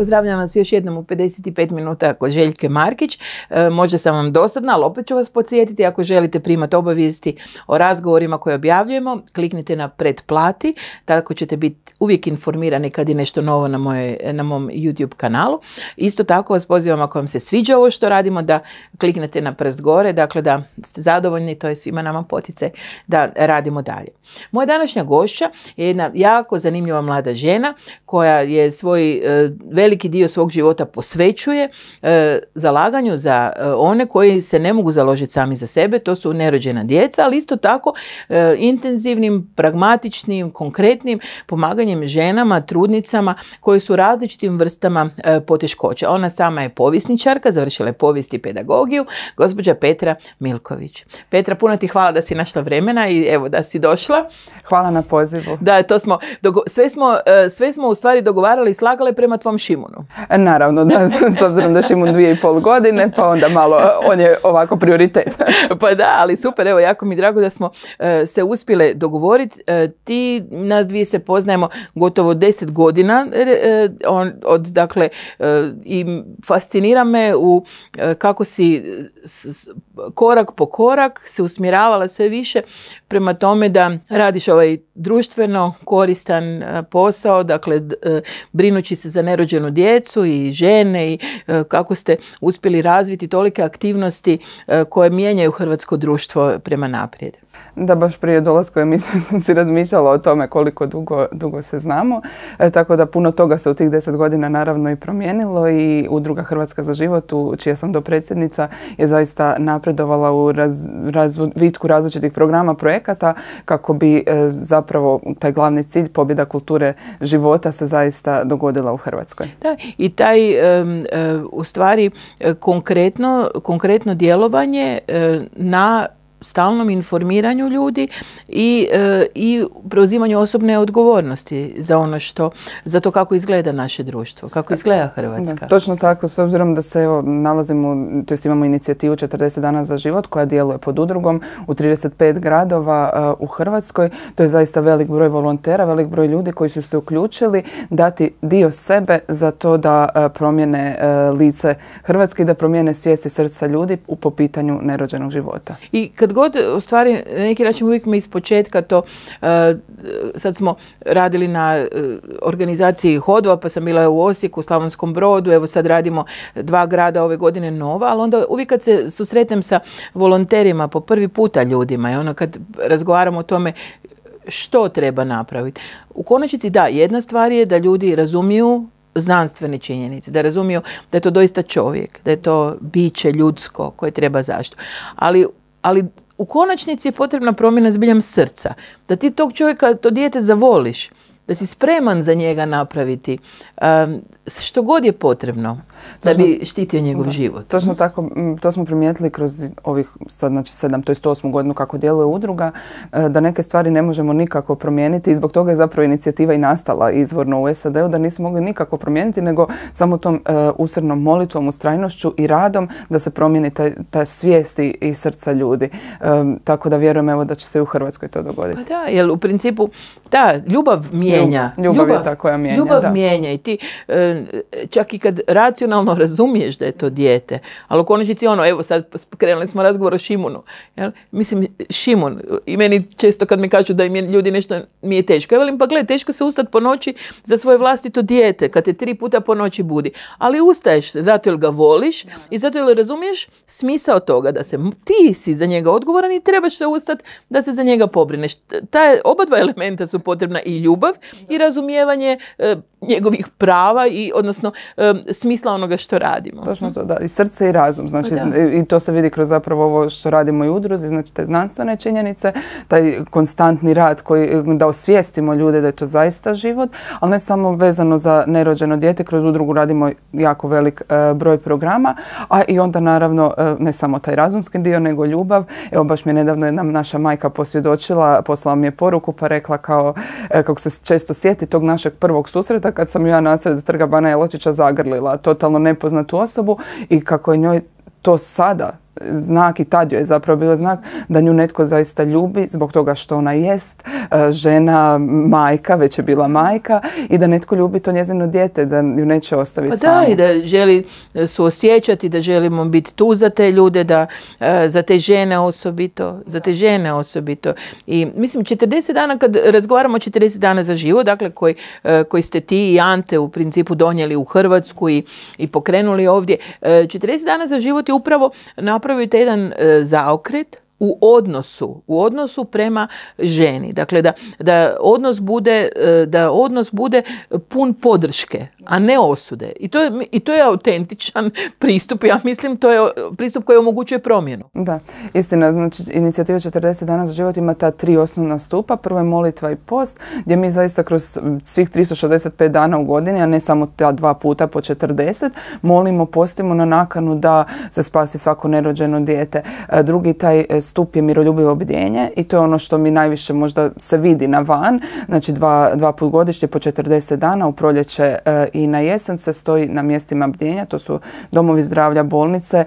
Pozdravljam vas još jednom u 55 minuta kod Željke Markić. Možda sam vam dosadna, ali opet ću vas podsjetiti, ako želite primati obavijesti o razgovorima koje objavljujemo, kliknite na pretplati, tako ćete biti uvijek informirani kad je nešto novo na mom YouTube kanalu. Isto tako vas pozivam, ako vam se sviđa ovo što radimo, da kliknete na prst gore, dakle da ste zadovoljni, to je svima nama poticaj da radimo dalje. Moja današnja gošća je jedna jako zanimljiva mlada žena koja je svoj veliki dio svog života posvećuje zalaganju za one koji se ne mogu založiti sami za sebe, to su nerođena djeca, ali isto tako intenzivnim, pragmatičnim, konkretnim pomaganjem ženama, trudnicama koje su u različitim vrstama poteškoća. Ona sama je povjesničarka, završila je povijest i pedagogiju, gospođa Petra Milković. Petra, puno ti hvala da si našla vremena i evo da si došla. Hvala na pozivu. Da, to smo, sve smo u stvari dogovarali i slagali prema tvom Šimunu. Naravno, da, s obzirom da Šimun 2,5 godine, pa onda malo on je ovako prioritet. Pa da, ali super, evo, jako mi je drago da smo se uspjele dogovoriti. Ti, nas dvije se poznajemo gotovo 10 godina, dakle, i fascinira me kako si korak po korak se usmjeravala sve više prema tome da radiš ovaj društveno koristan posao, dakle brinući se za nerođenu djecu i žene i kako ste uspjeli razviti tolike aktivnosti koje mijenjaju hrvatsko društvo prema naprijed. Da, baš prije dolaska u emisiju sam si razmišljala o tome koliko dugo se znamo, tako da puno toga se u tih 10 godina naravno i promijenilo i Udruga Hrvatska za život, čija sam dopredsjednica, je zaista napredovala u razvitku različitih programa, projekata kako bi zapravo taj glavni cilj, pobjeda kulture života, se zaista dogodila u Hrvatskoj. Da, i taj u stvari konkretno djelovanje na stalnom informiranju ljudi i preuzimanju osobne odgovornosti za to kako izgleda naše društvo, kako izgleda Hrvatska. Da, točno tako, s obzirom da se nalazimo, to jest imamo inicijativu 40 dana za život koja djeluje pod udrugom u 35 gradova u Hrvatskoj. To je zaista velik broj volontera, velik broj ljudi koji su se uključili dati dio sebe za to da promijene lice Hrvatske i da promijene svijest i srca ljudi po pitanju nerođenog života. I kad god, u stvari, na neki način uvijek me ispočetka to, sad smo radili na organizaciji hodova, pa sam bila u Osijeku, u Slavonskom Brodu, evo sad radimo 2 grada ove godine nova, ali onda uvijek kad se susretnem sa volonterima po prvi puta ljudima, i kad razgovaramo o tome što treba napraviti. U konačnici da, jedna stvar je da ljudi razumiju znanstvene činjenice, da razumiju da je to doista čovjek, da je to biće ljudsko koje treba zaštitu. Ali u konačnici je potrebna promjena zbiljam srca. Da ti tog čovjeka, to dijete zavoliš, da si spreman za njega napraviti što god je potrebno da bi štitio njegov život. Točno tako, to smo primijetili kroz ovih sad, znači 7, to je 108 godinu kako djeluje udruga, da neke stvari ne možemo nikako promijeniti i zbog toga je zapravo inicijativa i nastala izvorno u SAD-u, da nismo mogli nikako promijeniti, nego samo tom usrednom molitvom, ustrajnošću i radom da se promijeni ta svijest i srca ljudi. Tako da vjerujem evo da će se i u Hrvatskoj to dogoditi. Pa da, jer u principu da, ljubav mijenja. Ljubav je ta koja mijenja. Ljubav mijenja i ti čak i kad racionalno razumiješ da je to dijete, ali u konačnici evo sad krenuli smo razgovor o Šimunu. Jel? Mislim, Šimun, i meni često kad mi kažu da im ljudi nešto mi je teško. Ja velim, pa gledaj, teško se ustati po noći za svoje vlastito dijete, kad te 3 puta po noći budi. Ali ustaješ zato jer ga voliš i zato jer razumiješ smisao toga da ti si za njega odgovoran i trebaš se ustati da se za njega pobrineš. Oba dva elementa su potrebna, i ljubav i razumijevanje njegovih prava i odnosno smisla onoga što radimo. Točno to, da. I srce i razum. Znači, i to se vidi kroz zapravo ovo što radimo i u udruzi, znači te znanstvene činjenice, taj konstantni rad da osvijestimo ljude da je to zaista život, ali ne samo vezano za nerođeno dijete, kroz udrugu radimo jako velik broj programa, a i onda naravno ne samo taj razumski dio, nego ljubav. Evo baš mi je nedavno jedna naša majka posvjedočila, poslala mi je poruku pa rekla kako se često sjeti tog našeg prvog susreta kad sam ja nasred Trga Bana Jelačića zagrlila totalno nepoznatu osobu i kako je njoj to sada znak i tad joj je zapravo bio znak da nju netko zaista ljubi zbog toga što ona jest žena, majka, već je bila majka i da netko ljubi to njezino dijete, da ju neće ostaviti samu. Da, i da želi suosjećati, da želimo biti tu za te ljude, da za te žene osobito. I mislim, 40 dana, kad razgovaramo o 40 dana za život, dakle koji ste ti i Ante u principu donijeli u Hrvatsku i pokrenuli ovdje, 40 dana za život je upravo napravite jedan zaokret u odnosu prema ženi. Dakle, da odnos bude pun podrške, a ne osude. I to je autentičan pristup. Ja mislim, to je pristup koji omogućuje promjenu. Da, istina. Znači, inicijativa 40 dana za život ima ta 3 osnovna stupa. Prvo je molitva i post, gdje mi zaista kroz svih 365 dana u godini, a ne samo ta 2 puta po 40, molimo, postimo na nakanu da se spasi svako nerođeno dijete. Drugi taj stup je miroljubivo bdjenje i to je ono što mi najviše možda se vidi na van. Znači 2 put godišnje po 40 dana u proljeće i na jesen se stoji na mjestima bdjenja. To su domovi zdravlja, bolnice.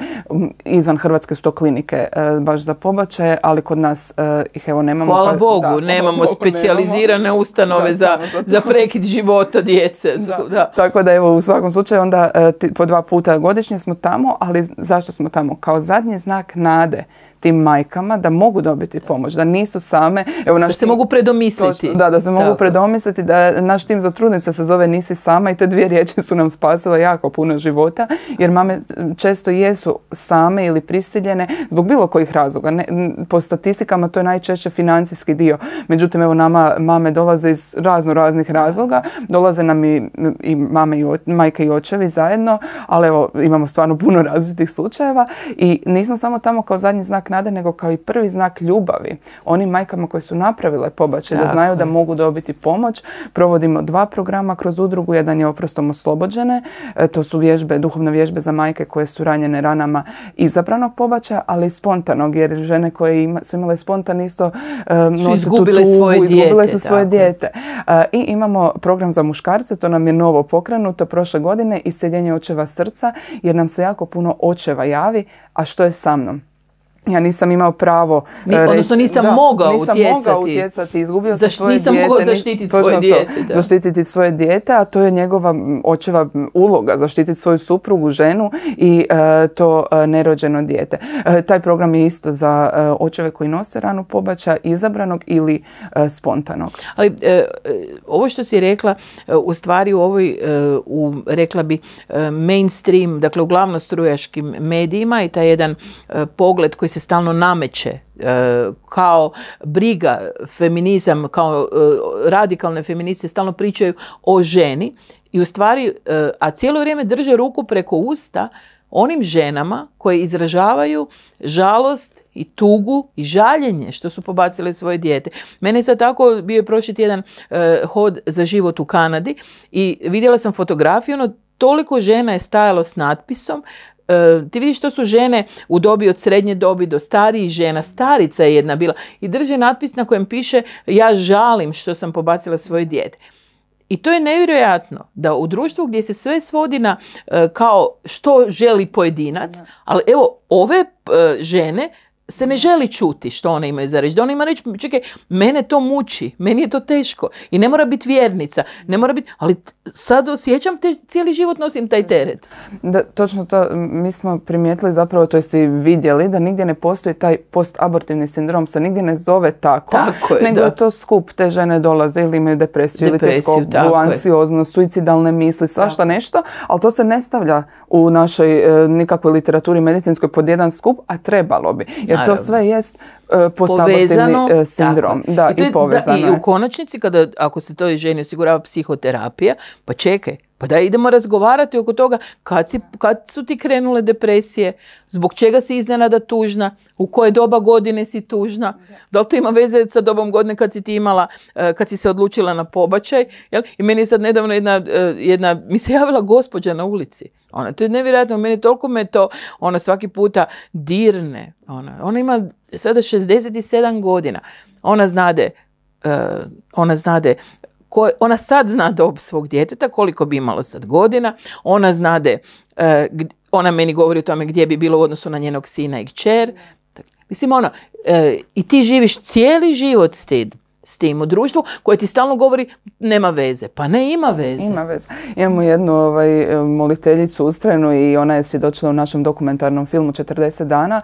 Izvan Hrvatske su to klinike baš za pobačaje, ali kod nas ih evo nemamo. Hvala Bogu, nemamo specijalizirane ustanove za prekid života djece. Da. Tako da evo u svakom slučaju onda po 2 puta godišnje smo tamo, ali zašto smo tamo? Kao zadnji znak nade tim majkama da mogu dobiti pomoć, da nisu same. Evo, da se mogu predomisliti. Da se mogu predomisliti, da naš tim za trudnice se zove Nisi sama i te 2 riječi su nam spasile jako puno života, jer mame često jesu same ili prisiljene zbog bilo kojih razloga. Po statistikama to je najčešće financijski dio. Međutim, evo nama mame dolaze iz raznih razloga. Dolaze nam i mame i majke i očevi zajedno, ali evo imamo stvarno puno različitih slučajeva i nismo samo tamo kao zadnji znak nade, nego kao i prvi znak ljubavi onim majkama koje su napravile pobačaj, da znaju da mogu dobiti pomoć. Provodimo 2 programa kroz udrugu. Jedan je Oprostom oslobođene. To su duhovne vježbe za majke koje su ranjene ranama izabranog pobačaja, ali i spontanog, jer žene koje su imale spontan isto nose tu tugu, izgubile su svoje dijete. I imamo program za muškarce, to nam je novo pokrenuto prošle godine, isceljenje očeva srca, jer nam se jako puno očeva javi, a što je sa mnom? Ja nisam imao pravo odnosno nisam mogao utjecati, izgubio sam svoje dijete. Nisam mogao zaštititi svoje dijete. Zaštititi svoje dijete, a to je njegova očeva uloga, zaštititi svoju suprugu, ženu i to nerođeno dijete. Taj program je isto za očeve koji nose ranu pobačaja, izabranog ili spontanog. Ali ovo što si rekla, u stvari u ovoj, rekla bi, mainstream, dakle u glavnostrujaškim medijima i taj jedan pogled koji se stalno nameće kao briga, feminizam, kao radikalne feministe stalno pričaju o ženi i u stvari, a cijelo vrijeme drže ruku preko usta onim ženama koje izražavaju žalost i tugu i žaljenje što su pobacile svoje dijete. Mene je sad tako, bio je prošli tjedan hod za život u Kanadi i vidjela sam fotografiju, toliko žena je stajalo s natpisom. Ti vidiš, to su žene u dobi od srednje dobi do starijih žena. Starica je jedna bila i drže natpis na kojem piše ja žalim što sam pobacila svoje dijete. I to je nevjerojatno da u društvu gdje se sve svodi na kao što želi pojedinac, ali evo ove žene se ne želi čuti što one imaju za reći. Da one ima reći, čekaj, mene to muči, meni je to teško i ne mora biti vjernica, ne mora biti, ali sad osjećam, cijeli život nosim taj teret. Da, točno to, mi smo primijetili zapravo, to jeste i vidjeli, da nigdje ne postoji taj postabortivni sindrom, se nigdje ne zove tako je, nego je to skup, te žene dolaze ili imaju depresiju ili teskobu, anksioznost, suicidalne misli, svašta nešto, ali to se ne stavlja u našoj nikakvoj literaturi medicinskoj pod jedan skup, a trebalo bi. Jer to sve jest postabortivni sindrom. Da, i povezano. I u konačnici, ako se toj ženi osigurava psihoterapija, pa čekaj, pa da idemo razgovarati oko toga kad su ti krenule depresije, zbog čega si iznenada tužna, u koje doba godine si tužna, da li to ima veze sa dobom godine kad si ti imala, kad si se odlučila na pobačaj. Jel? I meni je sad nedavno mi se javila gospođa na ulici. To je nevjerojatno, meni toliko me to, ona svaki puta dirne. Ona ima sada 67 godina. Ona sad zna dob svog djeteta, koliko bi imalo sad godina. Ona znade ona meni govori o tome gdje bi bilo u odnosu na njenog sina i kćer. Mislim, i ti živiš cijeli život s tim u društvu koje ti stalno govori nema veze. Pa ne, ima veze. Ima veze. Imamo jednu moliteljicu ustrajnu i ona je svjedočila u našem dokumentarnom filmu 40 dana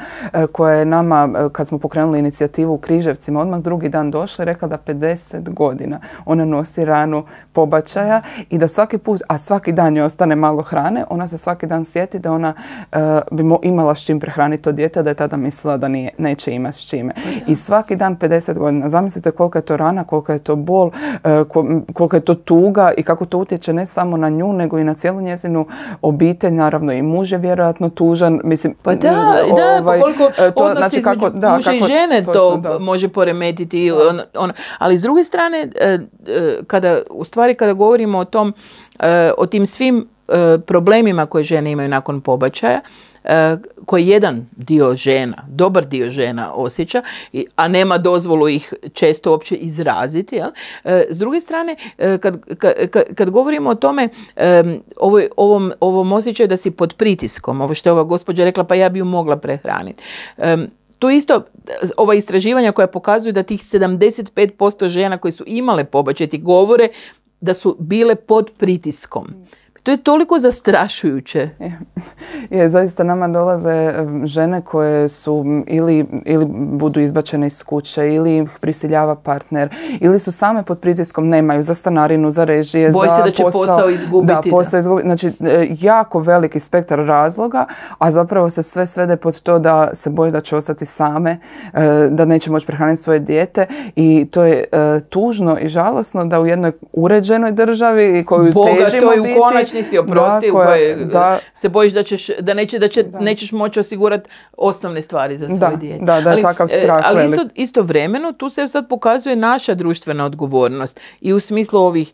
koja je nama, kad smo pokrenuli inicijativu u Križevcima, odmah drugi dan došla i rekla da 50 godina ona nosi ranu pobačaja i da svaki put, a svaki dan joj ostane malo hrane, ona se svaki dan sjeti da ona bi imala s čim prehraniti to dijete, da je tada mislila da neće imati s čime. I svaki dan 50 godina. Zamislite kolika je to rana, kolika je to bol, kolika je to tuga i kako to utječe ne samo na nju, nego i na cijelu njezinu obitelj. Naravno i muž je vjerojatno tužan. Mislim, pa pa koliko odnos između muža i žene to može poremetiti. Ali s druge strane, kada govorimo o tim svim problemima koje žene imaju nakon pobačaja, koji jedan dio žena, dobar dio žena osjeća, a nema dozvolu ih često uopće izraziti. Jel? S druge strane, kad govorimo o tome, ovom osjećaju da si pod pritiskom, ovo što je ova gospođa rekla, pa ja bi ju mogla prehraniti. Tu isto, ova istraživanja koja pokazuju da tih 75% žena koji su imale pobačaj ti govore da su bile pod pritiskom. To je toliko zastrašujuće. Zaista nama dolaze žene koje su ili budu izbačene iz kuće, ili ih prisiljava partner, ili su same pod pritiskom, nemaju za stanarinu, za režije, Boji se da će posao izgubiti. Da, posao izgubiti. Znači, jako veliki spektar razloga, a zapravo se sve svede pod to da se boje da će ostati same, da neće moći prehraniti svoje dijete i to je tužno i žalosno da u jednoj uređenoj državi koju težimo biti, si oprosti, u kojoj se bojiš da nećeš moći osigurati osnovne stvari za svoje dijete. Da je takav strah. Ali istovremeno tu se sad pokazuje naša društvena odgovornost i u smislu ovih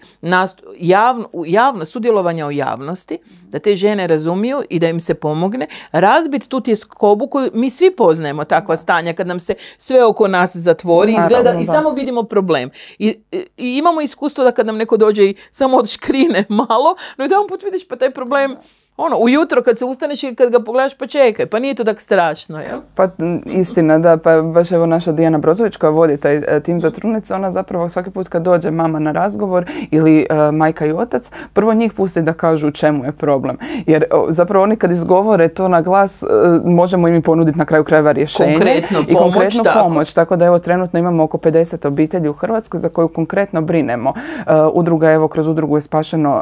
sudjelovanja u javnosti, da te žene razumiju i da im se pomogne, razbiti tu tjeskobu koju mi svi poznajemo, takva stanja kad nam se sve oko nas zatvori, izgleda i samo vidimo problem. I imamo iskustvo da kad nam neko dođe i samo odškrine malo, no jedan put vidiš pa taj problem ujutro kad se ustaneš i kad ga pogledaš pa čekaj, pa nije to tako strašno, jel? Pa istina, da, pa baš evo naša Dijana Brozović koja vodi taj tim za trudnice, ona zapravo svaki put kad dođe mama na razgovor ili majka i otac, prvo njih pusti da kažu u čemu je problem. Jer zapravo oni kad izgovore to na glas, možemo im ponuditi na kraju krajeva rješenje i konkretnu pomoć. Tako da evo trenutno imamo oko 50 obitelji u Hrvatskoj za koju konkretno brinemo. Udruga, evo kroz udrugu je spašeno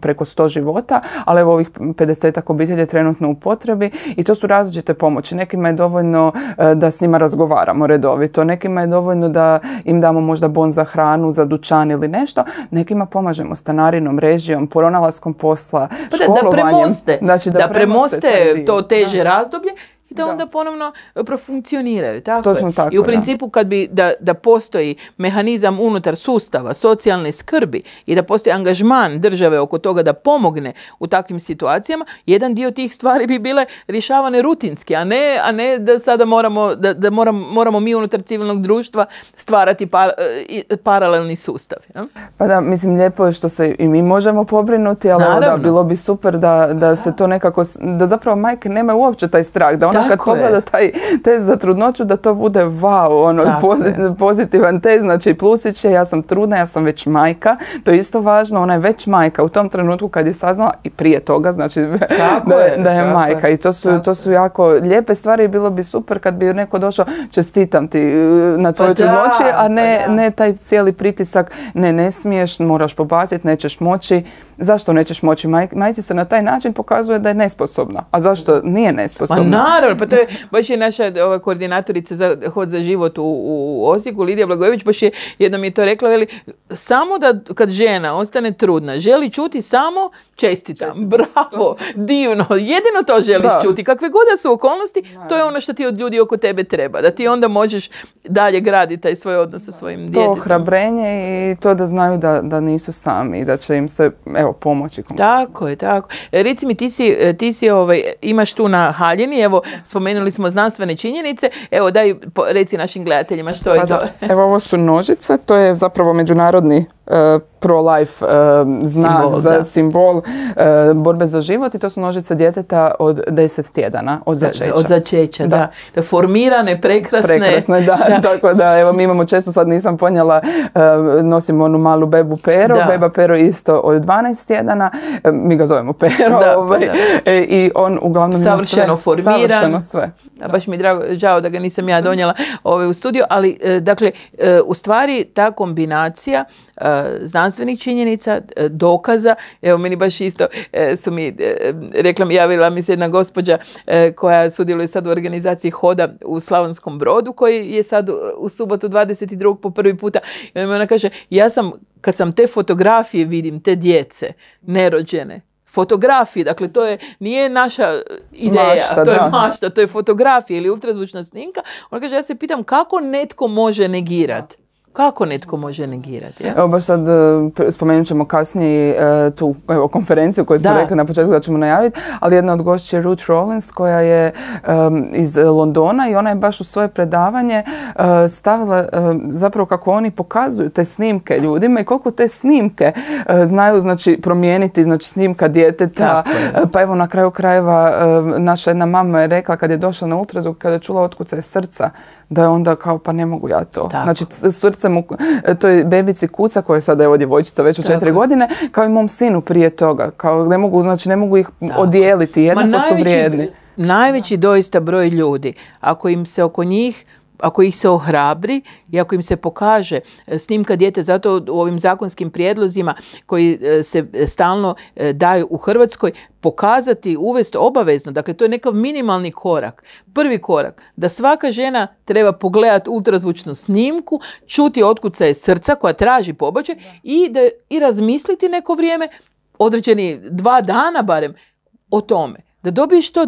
preko 100 života, ali evo ovih 50 obitelji je trenutno u potrebi i to su različite pomoći. Nekima je dovoljno da s njima razgovaramo redovito, nekima je dovoljno da im damo možda bon za hranu, za dućan ili nešto, nekima pomažemo stanarinom, režijom, pronalaskom posla, školovanjem. Da premoste to teže razdoblje i da onda ponovno profunkcioniraju. Tako i u principu kad bi da postoji mehanizam unutar sustava socijalne skrbi i da postoji angažman države oko toga da pomogne u takvim situacijama, jedan dio tih stvari bi bile rješavane rutinski, a ne da sada moramo mi unutar civilnog društva stvarati paralelni sustav. Ja? Pa da, mislim, lijepo je što se i mi možemo pobrinuti, ali da, bilo bi super da se to nekako, da zapravo majke nemaju uopće taj strah, da ona kad pogleda taj test za trudnoću, da to bude wow, pozitivan test, znači plusić je, ja sam trudna, ja sam već majka, to je isto važno, ona je već majka u tom trenutku kad je saznala i prije toga, znači da je majka. I to su jako lijepe stvari i bilo bi super kad bi neko došao, čestitam ti na tvojoj trudnoći, a ne taj cijeli pritisak, ne smiješ, moraš pobaciti, nećeš moći. Zašto nećeš moći? Majci se na taj način pokazuje da je nesposobna. A zašto nije nesposobna? Pa naravno, pa to je baš je naša koordinatorica za Hod za život u Osijeku, Lidija Blagojević, baš je jednom je to rekla, veli, samo da kad žena ostane trudna, želi čuti samo čestitam, bravo, divno, jedino to želiš čuti. Kakve god da su okolnosti, to je ono što ti od ljudi oko tebe treba. Da ti onda možeš dalje graditi taj svoj odnos sa svojim djetetom. To ohrabrenje i to da znaju da nisu sami i da će im se pomoći. Tako je, tako. Reci mi, ti si imaš tu na haljini, evo, spomenuli smo znanstvene činjenice, evo, daj, reci našim gledateljima što je to. Evo, ovo su nožice, to je zapravo međunarodni pro-life znak, simbol borbe za život, i to su nožice djeteta od 10 tjedana, od začeća. Od začeća, da. Formirane, prekrasne. Da. Tako da, evo, mi imamo često, sad nisam ponijela, nosimo onu malu bebu Pero, beba Pero isto od 12 tjedana, mi ga zovemo Pero, i on uglavnom savršeno formiran. Savršeno sve. Da, baš mi je žao da ga nisam ja donijela u studio, ali dakle, u stvari ta kombinacija znanstvenih činjenica, dokaza, evo meni baš isto su mi javila mi se jedna gospođa koja sudjeluje sad u organizaciji Hoda u Slavonskom Brodu, koji je sad u subotu 22. po prvi puta, i ona kaže, kad sam te fotografije vidim, te djece nerođene, fotografije, dakle to nije naša ideja, mašta, to je mašta, to je fotografija ili ultrazvučna snimka. Ona kaže, ja se pitam kako netko može negirati. Kako netko može negirati? Ja? Evo baš sad spomenut ćemo kasnije tu konferenciju koju smo rekli na početku da ćemo najaviti, ali jedna od gošća je Ruth Rollins koja je iz Londona, i ona je baš u svoje predavanje stavila zapravo kako oni pokazuju te snimke ljudima i koliko te snimke znaju, znači, promijeniti, znači, snimka djeteta. Pa evo, na kraju krajeva naša jedna mama je rekla kad je došla na ultrazvuk, kada je čula otkucaj srca, da je onda kao, pa ne mogu ja to. Tako. Znači, srce mu, to je bebici kuca koja je sada evo djevojčica već od 4 godine, kao i mom sinu prije toga. Kao ne mogu ih odijeliti, jednako su vrijedni. Najveći doista broj ljudi, ako im se oko njih, ako ih se ohrabri i ako im se pokaže snimka dijete, zato u ovim zakonskim prijedlozima koji se stalno daju u Hrvatskoj, pokazati, uvesti obavezno, dakle to je nekav minimalni korak. Prvi korak, da svaka žena treba pogledati ultrazvučnu snimku, čuti otkucaje srca koja traži pobačaj i razmisliti neko vrijeme, određeni 2 dana barem, o tome. Da dobiješ to,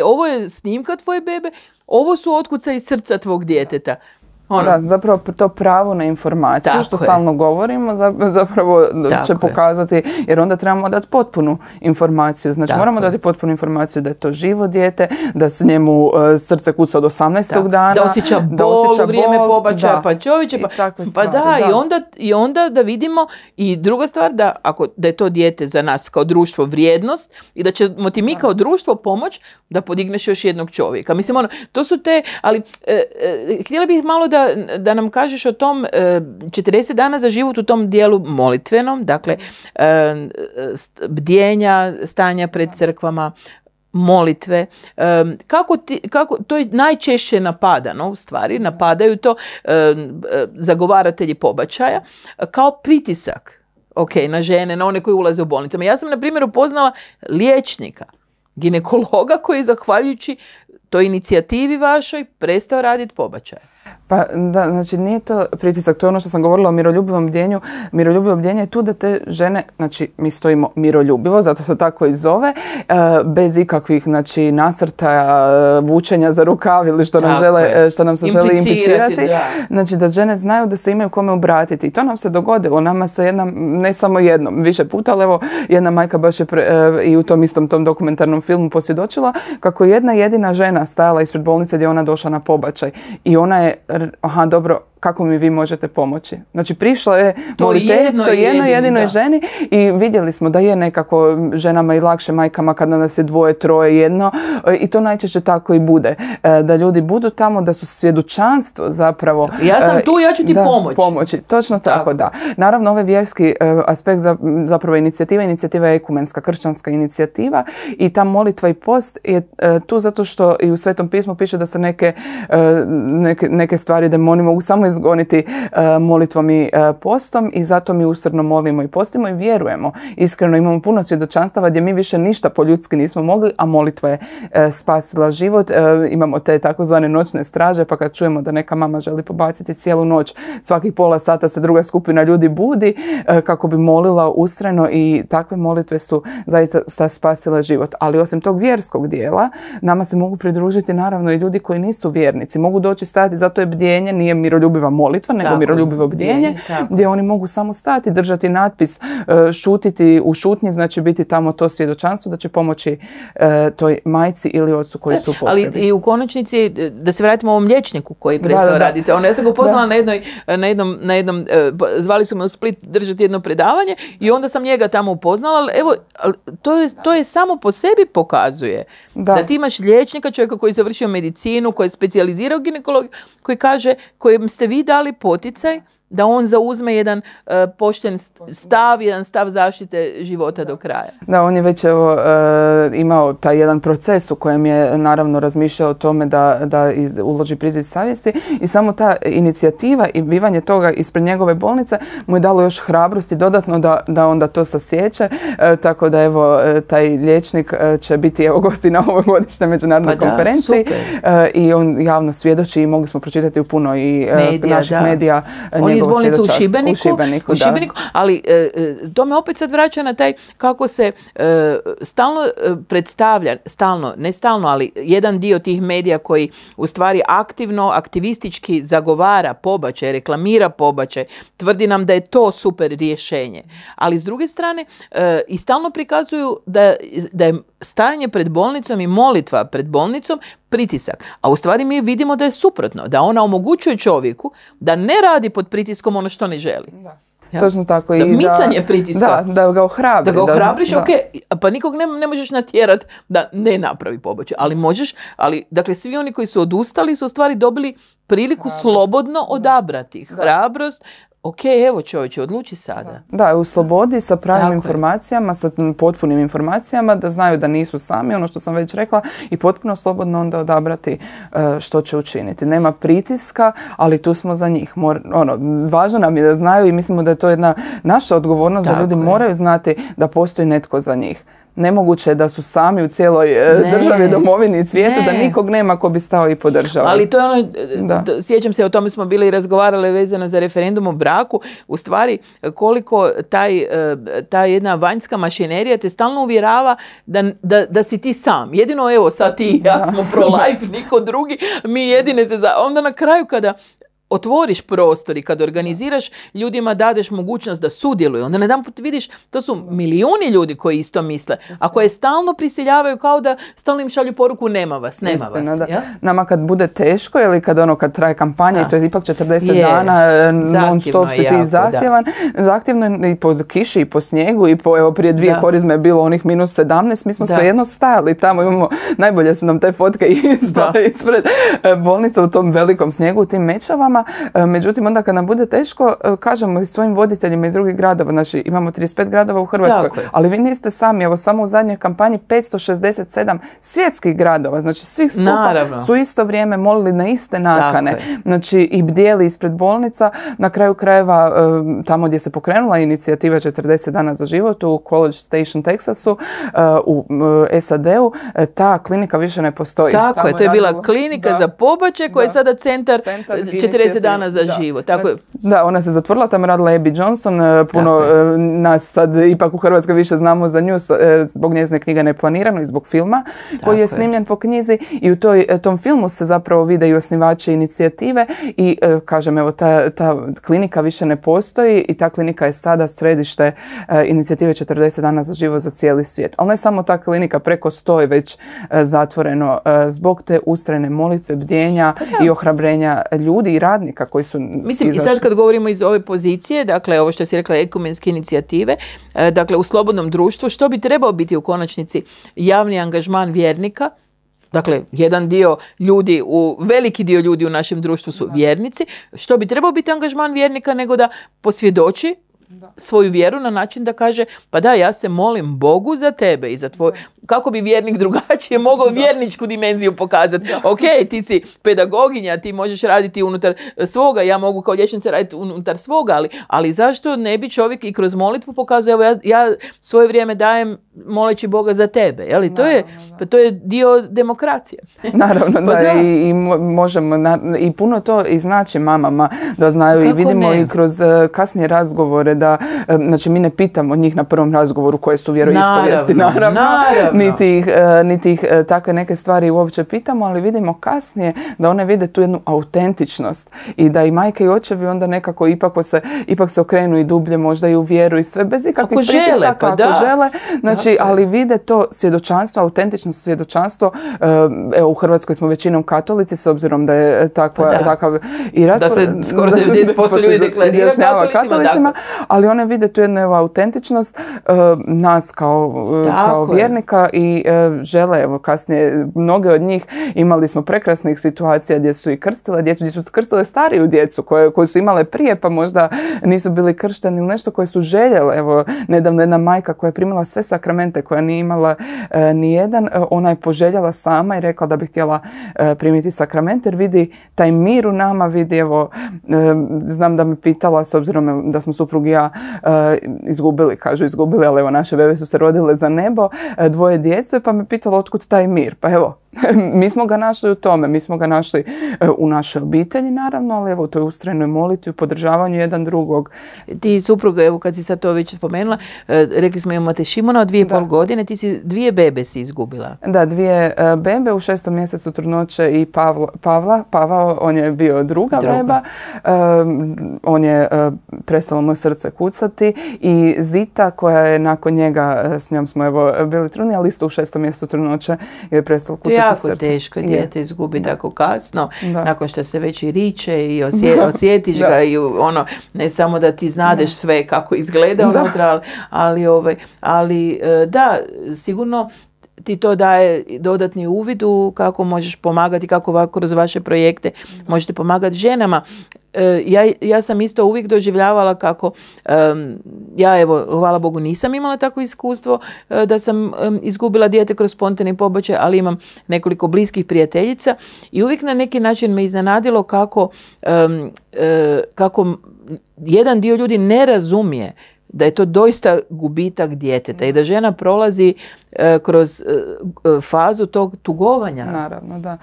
ovo je snimka tvoje bebe, ovo su otkucaji srca tvog djeteta. Da, zapravo to pravo na informaciju, tako što stalno govorimo, zapravo će pokazati, jer onda trebamo dati potpunu informaciju. Znači, moramo dati potpunu informaciju da je to živo dijete, da se njemu srce kuca od 18. dana. Da osjeća bol u vrijeme pobačaja, pa čovječe, i onda da vidimo. I druga stvar, da je to dijete za nas kao društvo vrijednost i da ćemo ti mi kao društvo pomoć da podigneš još jednog čovjeka. Mislim, to su te, ali htjela bih malo da nam kažeš o tom 40 dana za život u tom dijelu molitvenom, dakle bdjenja, stanja pred crkvama, molitve. Kako to je najčešće napadano, u stvari, napadaju to zagovaratelji pobačaja kao pritisak na žene, na one koji ulaze u bolnicama. Ja sam, na primjer, upoznala liječnika, ginekologa koji je, zahvaljujući toj inicijativi vašoj, prestao raditi pobačaj. Pa da, znači nije to pritisak, to je ono što sam govorila o miroljubivom bdjenju. Miroljubivo bdjenje je tu da te žene, znači mi stojimo miroljubivo, zato se tako i zove, bez ikakvih, znači, nasrtaja, vučenja za rukav ili što nam se želi implicirati. Znači da žene znaju da se imaju kome obratiti. I to nam se dogodilo. Nama se ne samo jednom, više puta, ali evo jedna majka baš je i u tom istom tom dokumentarnom filmu posvjedočila kako je jedna jedina žena stajala ispred bolnice gdje je ona došla na pobačaj. I ona je, dobro, kako mi vi možete pomoći. Znači, prišla je moliteljstvo jednoj jedinoj ženi i vidjeli smo da je nekako ženama i lakše, majkama, kada nas je 2, 3, 1, i to najčešće tako i bude. Da ljudi budu tamo, da su svjedočanstvo zapravo. Ja sam tu, ja ću ti pomoći. Točno tako, da. Naravno, ovaj vjerski aspekt zapravo inicijativa je ekumenska, kršćanska inicijativa, i ta molitva i post je tu zato što i u Svetom pismu piše da se neke stvari demoni mogu samo izgoniti molitvom i postom, i zato mi usrdno molimo i postimo i vjerujemo. Iskreno imamo puno svjedočanstava gdje mi više ništa po ljudski nismo mogli, a molitva je spasila život. Imamo te takozvane noćne straže, pa kad čujemo da neka mama želi pobaciti cijelu noć, svakih pola sata se druga skupina ljudi budi kako bi molila ustrajno, i takve molitve su zaista spasile život. Ali osim tog vjerskog dijela, nama se mogu pridružiti naravno i ljudi koji nisu vjernici. Mogu doći stajati za to je bdjenje, nije miroljubiva molitva, nego miroljubivo bdjenje, gdje oni mogu samo stati, držati natpis, šutiti u šutnji, znači biti tamo to svjedočanstvo da će pomoći toj majci ili ocu koji su u potrebi. Ali i u konačnici, da se vratimo ovom liječniku koji prestao raditi. Ja sam ga upoznala na jednom, zvali su me u Split držati jedno predavanje i onda sam njega tamo upoznala, ali evo, to je samo po sebi pokazuje da ti imaš liječnika, čovjeka koji je završio medicinu, koji je specijalizirao ginekologiju, koji kaže, kojem ste vi dali poticaj da on zauzme jedan pošten stav, jedan stav zaštite života do kraja. Da, on je već imao taj jedan proces u kojem je naravno razmišljao o tome da uloži priziv savjesti i samo ta inicijativa i bivanje toga ispred njegove bolnice mu je dalo još hrabrosti dodatno da onda to sasjeće, tako da evo taj liječnik će biti evo gosti na ovogodišnjoj međunarodnoj konferenciji i on javno svjedoči i mogli smo pročitati u puno i naših medija. Iz bolnice u Šibeniku, ali to me opet sad vraća na taj kako se stalno predstavlja, ne stalno, ali jedan dio tih medija koji u stvari aktivistički zagovara pobačaj, reklamira pobačaj, tvrdi nam da je to super rješenje. Ali s druge strane i stalno prikazuju da je stajanje pred bolnicom i molitva pred bolnicom pritisak. A u stvari mi vidimo da je suprotno, da ona omogućuje čovjeku da ne radi pod pritiskom ono što ne želi. Ja. Točno tako. Da micanje pritiska. Da ga ohrabri. Da ga ohrabriš, pa nikog ne možeš natjerati da ne napravi pobačaj. Ali možeš, dakle, svi oni koji su odustali su u stvari dobili priliku slobodno odabrati. Hrabrost. Ok, evo čovječe, odluči sada. Da, u slobodi sa pravim informacijama, sa potpunim informacijama, da znaju da nisu sami, ono što sam već rekla, i potpuno slobodno onda odabrati što će učiniti. Nema pritiska, ali tu smo za njih. Važno nam je da znaju i mislimo da je to jedna naša odgovornost, da ljudi moraju znati da postoji netko za njih. Nemoguće je da su sami u cijeloj državi, domovini i svijetu, da nikog nema ko bi stao i podržao. Ali to je ono, sjećam se, o tome smo bili razgovarali vezano za referendum o braku, u stvari koliko ta jedna vanjska mašinerija te stalno uvjerava da si ti sam. Jedino evo sad ti, ja smo pro-life, niko drugi, mi jedine se onda na kraju kada otvoriš prostor i kad organiziraš, ljudima dadeš mogućnost da sudjeluju, onda jedanput vidiš, to su milijuni ljudi koji isto misle, a koje stalno prisiljavaju kao da stalno im šalju poruku nema vas. Ja? Nama kad bude teško ili kad traje kampanja i to je ipak 40 dana non stop si ti zahtjevno i po kiši i po snijegu i evo prije 2 korizme je bilo onih -17, mi smo svejedno stajali tamo, najbolje su nam te fotke ispred bolnica u tom velikom snijegu, u tim Mečavama. Međutim, onda kad nam bude teško, kažemo i svojim voditeljima iz drugih gradova, znači imamo 35 gradova u Hrvatskoj, ali vi niste sami, evo samo u zadnjoj kampanji 567 svjetskih gradova, znači svih skupa su isto vrijeme molili na iste nakane, znači i bdjeli ispred bolnica, na kraju krajeva tamo gdje se pokrenula inicijativa 40 dana za život u College Station, Texasu, u SAD-u, ta klinika više ne postoji. Tako je, to je bila klinika za pobačaj koja je sada centar 40 dana za život. Tako je. Da, ona se zatvorila, tamo radila Abby Johnson, puno nas sad ipak u Hrvatskoj više znamo za nju zbog njezine knjige Neplanirano i zbog filma koji je snimljen po knjizi i u tom filmu se zapravo vide i osnivači inicijative i kažem, evo, ta klinika više ne postoji i ta klinika je sada središte inicijative 40 dana za život za cijeli svijet. Ali ne samo ta klinika, preko 100 je već zatvoreno zbog te ustrajne molitve, bdjenja i ohrabrenja ljudi i radnika koji su izašli. I sad kad govorimo iz ove pozicije, dakle ovo što si rekla, ekumenske inicijative, dakle u slobodnom društvu, što bi trebao biti u konačnici javni angažman vjernika? Dakle, veliki dio ljudi u našem društvu su vjernici. Što bi trebao biti angažman vjernika nego da posvjedoči svoju vjeru na način da kaže, pa da, ja se molim Bogu za tebe i za tvoj... Kako bi vjernik drugačije mogao vjerničku dimenziju pokazati? Ok, ti si pedagoginja, ti možeš raditi unutar svoga, ja mogu kao liječnica raditi unutar svoga, ali zašto ne bi čovjek i kroz molitvu pokazao, evo ja svoje vrijeme dajem moleći Boga za tebe, jeli? To je dio demokracije. Naravno, i možemo, i puno to i znači mamama da znaju. Kako i vidimo i kroz kasnije razgovore da, znači mi ne pitamo njih na prvom razgovoru koje su vjeroispovijesti, naravno. niti ih takve neke stvari uopće pitamo, ali vidimo kasnije da one vide tu jednu autentičnost i da i majke i očevi onda nekako ipak se okrenu i dublje možda i u vjeru i sve bez ikakvih pritisaka ako žele. Znači, ali vide to svjedočanstvo, autentično svjedočanstvo. Evo, u Hrvatskoj smo većinom katolici, s obzirom da je takav i raspored. Da se skoro 90% ljudi deklarira katolicima, ali one vide tu jednu autentičnost nas kao vjernika i žele, evo kasnije, mnoge od njih imali smo prekrasnih situacija gdje su i krstile djecu, gdje su krstile stariju djecu koju su imale prije pa možda nisu bili kršteni ili nešto koje su željele. Evo, nedavno jedna majka koja je primila sve sakramente, koja nije imala ni jedan, ona je poželjela sama i rekla da bi htjela primiti sakrament jer vidi taj mir u nama, vidi, evo, znam da me pitala, s obzirom da smo suprug i ja izgubili, ali evo, naše bebe su se rodile za nebo, dvoje djece, pa me pitala otkud taj mir. Pa evo, mi smo ga našli u tome, mi smo ga našli u našoj obitelji, naravno, ali evo, u toj ustrajnoj molitvi, u podržavanju jedan drugog. Ti supruga, evo, kad si sad to već spomenula, rekli smo imate Šimona od 2,5 godine, ti si 2 bebe si izgubila. Da, 2 bebe, u 6. mjesecu trudnoće i Pavao, on je bio druga beba, on je prestalo moje srce kucati i Zita koja je nakon njega, s njom smo evo bili trudni, ali isto u 6. mjesecu trudnoće je prestalo kucati srce. Jako teško dijete izgubi tako kasno, nakon što se već i riče i osjetiš ga i ono, ne samo da ti znadeš sve kako izgleda unutra, ali sigurno ti to daje dodatni uvid u kako možeš pomagati, kako kroz vaše projekte možete pomagati ženama. Ja sam isto uvijek doživljavala kako, ja evo, hvala Bogu, nisam imala takvo iskustvo da sam izgubila dijete kroz spontani pobačaj, ali imam nekoliko bliskih prijateljica i uvijek na neki način me iznenadilo kako jedan dio ljudi ne razumije da je to doista gubitak djeteta i da žena prolazi kroz fazu tog tugovanja. Naravno, da.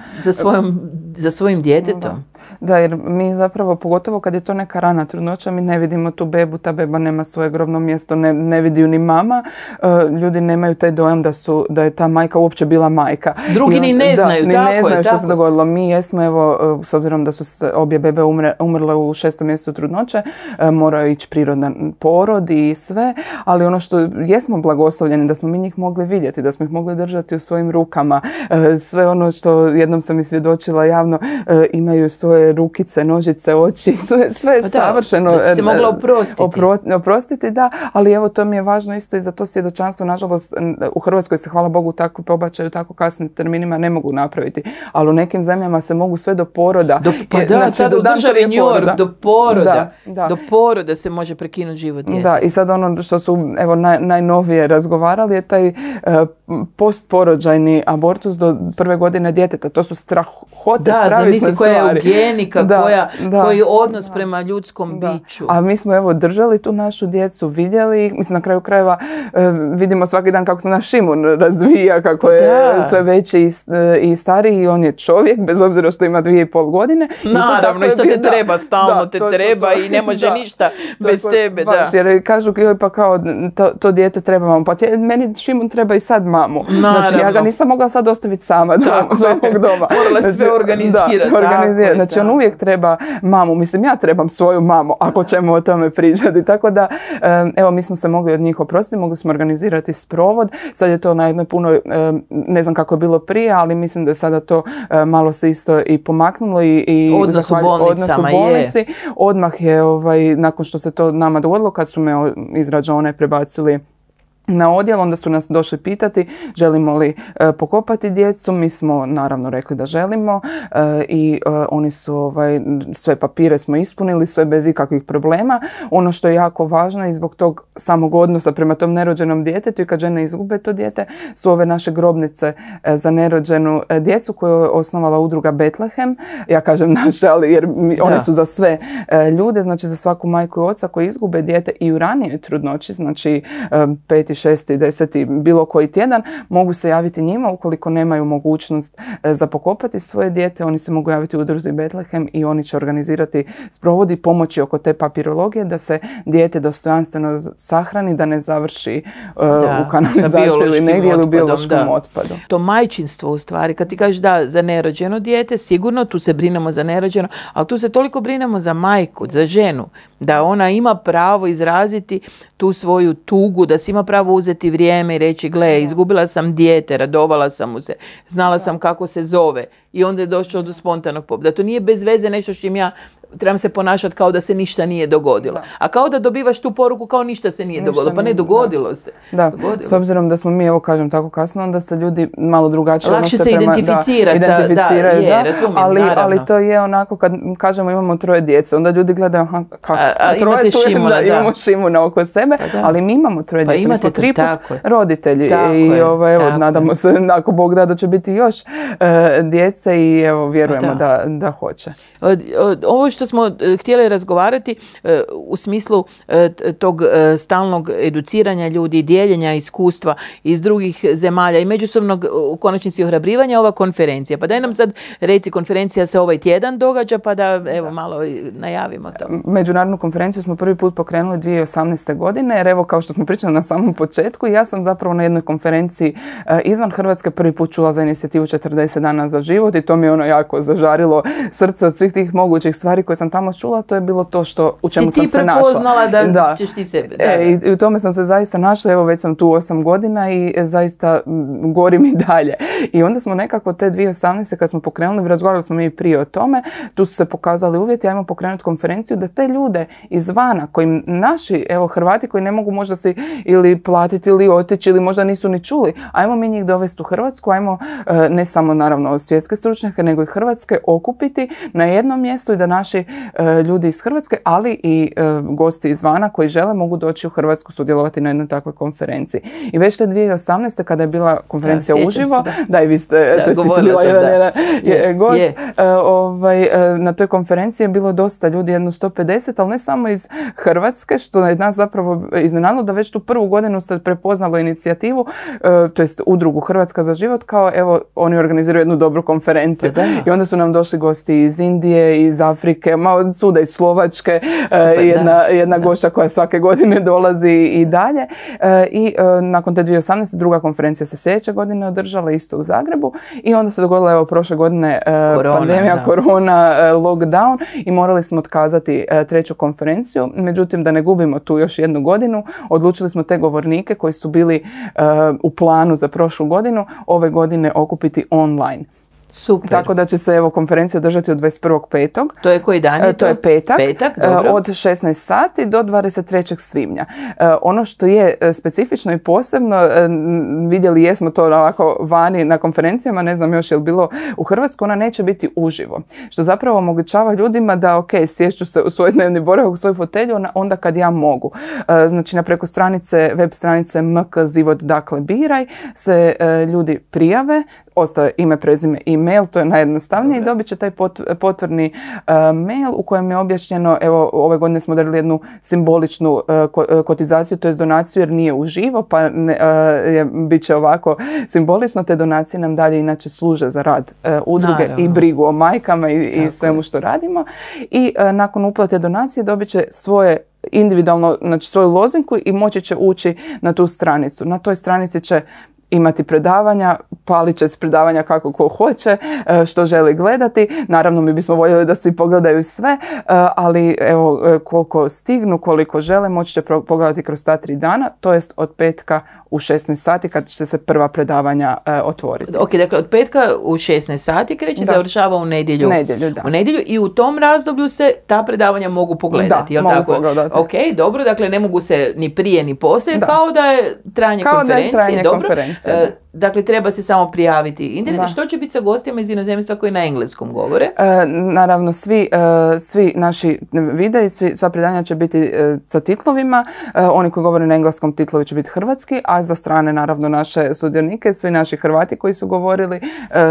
Za svojim djetetom. Da, jer mi zapravo, pogotovo kad je to neka rana trudnoća, mi ne vidimo tu bebu, ta beba nema svoje grobno mjesto, ne vidi ju ni mama. Ljudi nemaju taj dojam da je ta majka uopće bila majka. Drugi ni ne znaju, što se dogodilo. Mi jesmo, evo, s obzirom da su obje bebe umrle u 6. mjesecu trudnoće, morao ići prirodan porod i sve, ali ono što jesmo blagoslovljeni, da smo mi njih mogli vidjeti, da smo ih mogli držati u svojim rukama. Sve ono što jednom sam i svjedočila javno, imaju svoje rukice, nožice, oči, sve je savršeno. Da se mogla oprostiti, da, ali evo, to mi je važno isto i za to svjedočanstvo. Nažalost, u Hrvatskoj se, hvala Bogu, tako pobačaju, tako kasnim terminima ne mogu napraviti, ali u nekim zemljama se mogu sve do poroda. Sad u državi New York do poroda se može prekinuti život djeteta. Da, i sad ono što su evo najnovije razgovarali je taj postporođajni abortus do 1. godine djeteta. To su strahote, stravične stvari. Koja je eugenika, koji je odnos prema ljudskom biću. A mi smo evo držali tu našu djecu, vidjeli ih. Mislim, na kraju krajeva vidimo svaki dan kako se naš Šimun razvija, kako je sve veći i stariji i on je čovjek, bez obzira što ima 2,5 godine. Naravno, što te treba, stalno te treba i ne može ništa bez tebe. Jer kažu, pa kao to dijete treba mamu. Pa meni Šimun treba i sad mamu. Znači, ja ga nisam mogla sad ostaviti sama doma. Morala sve organizirati. Znači, on uvijek treba mamu. Mislim, ja trebam svoju mamu, ako ćemo o tome pričati. Tako da, evo, mi smo se mogli od njih oprostiti, mogli smo organizirati sprovod. Sad je to na jednoj punoj, ne znam kako je bilo prije, ali mislim da je sada to malo se isto i pomaknulo i odnos u bolnici. Odmah je, nakon što se to nama dogodilo, kad su me iz rađone prebacili na odjel, onda su nas došli pitati želimo li pokopati djecu. Mi smo naravno rekli da želimo i oni su sve papire smo ispunili, sve bez ikakvih problema. Ono što je jako važno i zbog tog samog odnosa prema tom nerođenom djetetu i kad žene izgube to dijete su ove naše grobnice za nerođenu djecu koju je osnovala udruga Betlehem. Ja kažem naše, ali jer one su za sve ljude, znači za svaku majku i oca koji izgube dijete i u ranijoj trudnoći, znači 5. 6., 10. bilo koji tjedan, mogu se javiti njima. Ukoliko nemaju mogućnost za pokopati svoje dijete, oni se mogu javiti u udruzi Betlehem i oni će organizirati sprovodi, pomoći oko te papirologije da se dijete dostojanstveno sahrani, da ne završi u kanalizaciji ili negdje ili u biološkom otpadu. To majčinstvo u stvari, kad ti kažeš da za nerođeno dijete, sigurno tu se brinemo za nerođeno, ali tu se toliko brinemo za majku, za ženu, da ona ima pravo izraziti tu svoju tugu, da si ima pravo uzeti vrijeme i reći, gle, izgubila sam dijete, radovala sam mu se, znala sam kako se zove i onda je došlo do spontanog da to nije bez veze nešto što im ja trebam se ponašati kao da se ništa nije dogodilo. A kao da dobivaš tu poruku kao ništa se nije dogodilo. Pa ne, dogodilo se. Da, s obzirom da smo mi, evo kažem tako kasno, onda se ljudi malo drugačije lakše se identificiraju, ali to je onako kad kažemo imamo 3 djece, onda ljudi gledaju troje tu imamo Šimuna oko sebe, ali mi imamo 3 djece, mi smo 3 put roditelji i nadamo se, ako Bog da će biti još djece i evo vjerujemo da hoće. Ovo što smo htjeli razgovarati u smislu tog stalnog educiranja ljudi, dijeljenja iskustva iz drugih zemalja i međusobnog u konačnici ohrabrivanja, ova konferencija. Pa daj nam sad reci, konferencija se ovaj tjedan događa, pa da evo malo najavimo to. Međunarodnu konferenciju smo prvi put pokrenuli 2018. godine, jer evo kao što smo pričali na samom početku, ja sam zapravo na jednoj konferenciji izvan Hrvatske prvi put čula za inicijativu 40 dana za život i to mi je ono jako zažarilo srce od svih tih mogućih stvari koje sam tamo čula, to je bilo to u čemu sam se našla. Si ti prepoznala da ćeš ti sebe. I u tome sam se zaista našla, evo već sam tu 8 godina i zaista gorim i dalje. I onda smo nekako te 2018. kad smo pokrenuli, razgovarali smo mi prije o tome, tu su se pokazali uvjeti, ajmo pokrenuti konferenciju da te ljude izvana, koji naši, evo Hrvati koji ne mogu možda si ili platiti ili otići ili možda nisu ni čuli, ajmo mi njih dovesti u Hrvatsku, ajmo ne samo naravno svjetske stručnjake, nego i hrvatske okupiti na jednom mjestu i da naši ljudi iz Hrvatske, ali i gosti izvana koji žele mogu doći u Hrvatsku sudjelovati na jednoj takvoj konferenciji. I već te 2018. kada je bila konferencija uživo, da i vi ste, to ste bila jedan gost, na toj konferenciji je bilo dosta ljudi, jedno 150, ali ne samo iz Hrvatske, što je nas zapravo iznenadilo da već tu prvu godinu se prepoznalo inicijativu, to jest udrugu Hrvatska za život, kao evo oni organiziraju jednu dobru konferenciju. I onda su nam došli gosti iz Indije, iz Afrike, od suda iz Slovačke, jedna gošća koja svake godine dolazi i dalje. I nakon te 2018. druga konferencija se sljedeće godine održala isto u Zagrebu i onda se dogodila evo prošle godine pandemija, korona, lockdown i morali smo otkazati treću konferenciju. Međutim, da ne gubimo tu još jednu godinu, odlučili smo te govornike koji su bili u planu za prošlu godinu ove godine okupiti online. Super. Tako da će se evo konferencija održati od 21.5. To je koji dan je to? To je petak, dobro. Od 16 sati do 23. svibnja. Ono što je specifično i posebno, vidjeli jesmo to ovako vani na konferencijama, ne znam još je li bilo u Hrvatskoj, ona neće biti uživo. Što zapravo omogućava ljudima da sješću se u svoj dnevni boravak, u svoju fotelju onda kad ja mogu. Znači preko web stranice MK Zivot, dakle biraj, se ljudi prijave, ostaje ime, prezime, e-mail, to je najjednostavnije i dobit će taj potvrdni mail u kojem je objašnjeno, evo ove godine smo darili jednu simboličnu kotizaciju, to je donaciju jer nije uživo, pa bit će ovako simbolično, te donacije nam dalje inače služe za rad udruge i brigu o majkama i svemu što radimo i nakon uplate donacije dobit će svoje individualno, znači svoju lozinku i moći će ući na tu stranicu. Na toj stranici će imati predavanja, palit će se predavanja kako ko hoće, što želi gledati. Naravno, mi bismo voljeli da svi pogledaju sve, ali evo, koliko stignu, koliko žele, moći će pogledati kroz ta 3 dana, to jest od petka u 16 sati kad će se prva predavanja otvoriti. Ok, dakle, od petka u 16 sati kreće, završava u nedjelju. U nedjelju i u tom razdoblju se ta predavanja mogu pogledati. Da, mogu pogledati. Ok, dobro, dakle, ne mogu se ni prije ni poslije, kao da je trajanje konferencije. Dobro. informacija. Dakle, treba se samo prijaviti internet. Što će biti sa gostima iz inozemstva koji na engleskom govore? Naravno, svi naši videi, sva predanja će biti sa titlovima. Oni koji govore na engleskom, titlovi će biti hrvatski, a za strane, naravno, naše sudionike, svi naši Hrvati koji su govorili,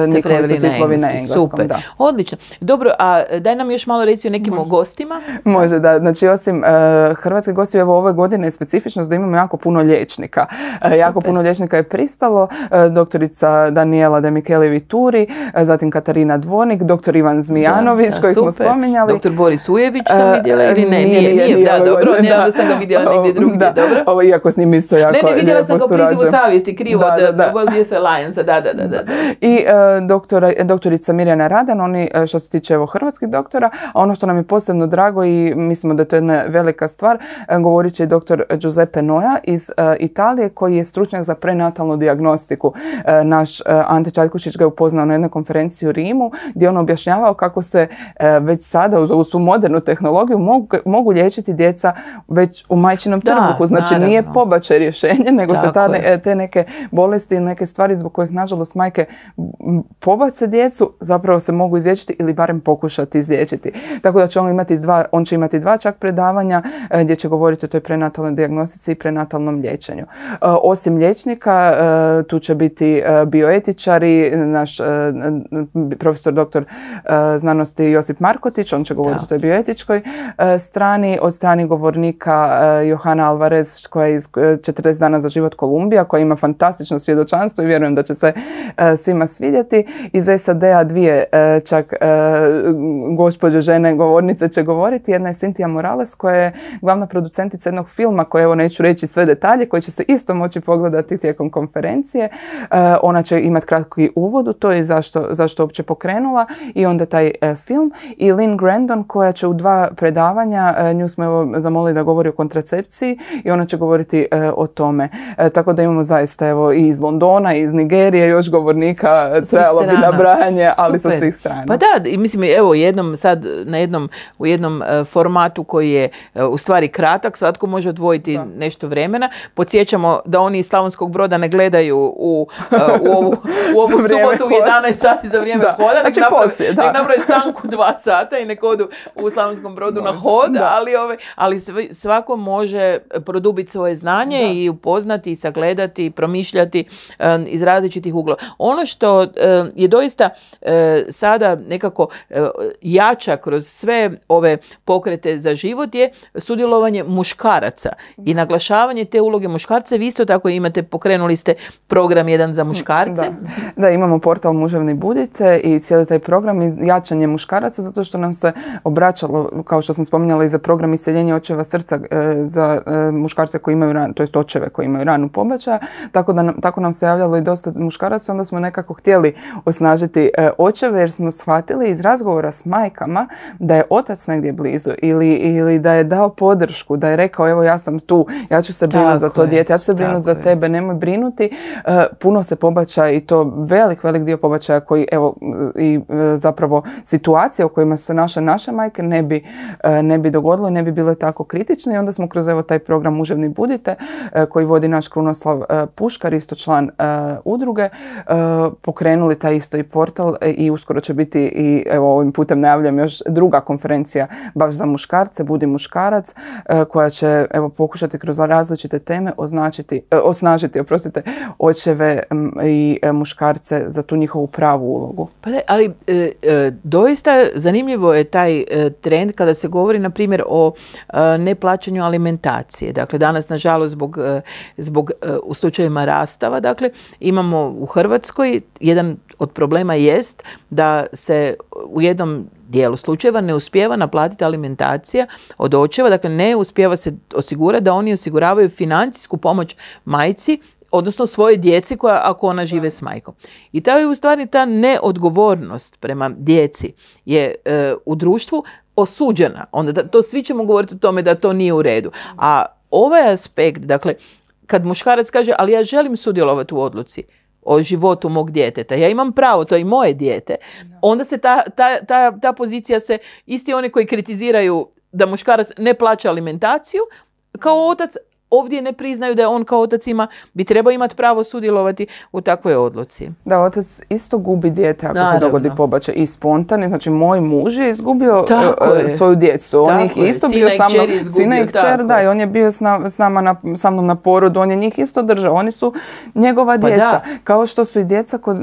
njihovi su titlovi na engleskom. Super. Da. Odlično. Dobro, a daj nam još malo reci o nekim gostima. Može, da. Znači, osim hrvatskih gostiju, evo ove godine je specifičnost da imamo jako puno liječnika. Jako puno liječnika je pristalo. Doktorica Daniela De Micheli Vituri, zatim Katarina Dvornik, doktor Ivan Zmijanović, koji smo spominjali. Doktor Boris Ujević sam vidjela ili ne? Nije. Da, dobro, onda sam ga vidjela negdje drugdje, dobro? Ovo, iako s njim isto jako lijepo surađujem. Ne, vidjela sam ga u prizivu savjesti, krivo od World Youth Alliance, da. I doktorica Mirjana Radan, oni što se tiče evo hrvatskih doktora, a ono što nam je posebno drago i mislimo da je to jedna velika stvar, govorit će i doktor Giuseppe Noja iz Italije, koji je stručnjak za prenatalnu dijagnostiku. Naš Ante Čaljkušić ga je upoznao na jednoj konferenciji u Rimu, gdje on objašnjavao kako se već sada uz svu modernu tehnologiju mogu liječiti djeca već u majčinom trbuhu. Znači nije pobačaj rješenje, nego se te neke bolesti ili neke stvari zbog kojih nažalost majke pobace djecu zapravo se mogu izliječiti ili barem pokušati izliječiti. Tako da će on će imati dva čak predavanja gdje će govoriti o toj prenatalnoj dijagnostici i prenatalnom liječenju. Osim liječnika, tu će biti bioetičari, naš profesor doktor znanosti Josip Markotić, on će govoriti o toj bioetičkoj strani. Od strani govornika Johana Alvarez, koja je iz 40 dana za život Kolumbija, koja ima fantastično svjedočanstvo i vjerujem da će se svima svidjeti. Iz SAD-a dvije čak gospođe žene govornice će govoriti. Jedna je Cynthia Morales, koja je glavna producentica jednog filma koji, evo neću reći sve detalje, koji će se isto moći pogledati tijekom konferencije. Ona će imati kratki uvod u to i zašto uopće pokrenula i onda taj film. I Lynn Grandon, koja će u dva predavanja, nju smo evo zamolili da govori o kontracepciji i ona će govoriti o tome. Tako da imamo zaista evo i iz Londona, i iz Nigerije još govornika, trebalo bi nabrajanje, ali sa svih strana. Pa da, i mislim, evo u jednom formatu koji je u stvari kratak, svatko može odvojiti nešto vremena. Podsjećamo da oni iz Slavonskog Broda ne gledaju u ovu subotu u 11 sati za vrijeme hoda. Nek naprave stanku 2 sata i nek odu u Slavonskom Brodu na hod, ali svako može produbiti svoje znanje i upoznati, i sagledati, i promišljati iz različitih uglova. Ono što je doista sada nekako jača kroz sve ove pokrete za život je sudjelovanje muškaraca i naglašavanje te uloge muškarca. Vi isto tako imate, pokrenuli ste program jedan za muškarce. Da, imamo portal Muževni budite i cijeli taj program i jačanje muškaraca, zato što nam se obraćalo, kao što sam spominjala, i za program iseljenja očeva srca za muškarce koji imaju to jest očeve koji imaju ranu pobačaja, tako nam se javljalo i dosta muškaraca, onda smo nekako htjeli osnažiti očeve jer smo shvatili iz razgovora s majkama da je otac negdje blizu ili da je dao podršku, da je rekao evo ja sam tu, ja ću se brinuti za to dijete, ja ću se brinuti za tebe, nemoj brinuti. Puno se pobačaja i to velik dio pobačaja koji evo i zapravo situacije u kojima su naše majke ne bi dogodilo i ne bi bile tako kritične i onda smo kroz evo taj program Muževni budite koji vodi naš Krunoslav Puškar, isto član udruge, pokrenuli taj isto i portal i uskoro će biti i evo ovim putem najavljam još druga konferencija baš za muškarce, Budi muškarac, koja će evo pokušati kroz različite teme osnažiti očeve i muškarce za tu njihovu pravu ulogu. Pa da, ali doista zanimljivo je taj trend kada se govori na primjer o neplaćanju alimentacije. Dakle, danas nažalost zbog u slučajevima rastava, dakle, imamo u Hrvatskoj jedan od problema jest da se u jednom dijelu slučajeva ne uspijeva naplatiti alimentacija od očeva, dakle ne uspijeva se osigurati da oni osiguravaju financijsku pomoć majci, odnosno svoje djeci ako ona žive s majkom. I ta je u stvari ta neodgovornost prema djeci je u društvu osuđena. Onda to svi ćemo govoriti o tome da to nije u redu. A ovaj aspekt, dakle, kad muškarac kaže ali ja želim sudjelovati u odluci o životu mog djeteta, ja imam pravo, to je i moje dijete, onda se ta pozicija se, isti oni koji kritiziraju da muškarac ne plaća alimentaciju, kao otac ovdje ne priznaju da on kao otac bi trebao imati pravo sudjelovati u takvoj odluci. Da, otac isto gubi dijete ako se dogodi pobačaj i spontani. Znači, moj muž je izgubio svoju djecu. On ih isto bio sa mnom, sina i kćer, da, i on je bio sa mnom na porodu, on je njih isto držao. Oni su njegova djeca. Kao što su i djeca kod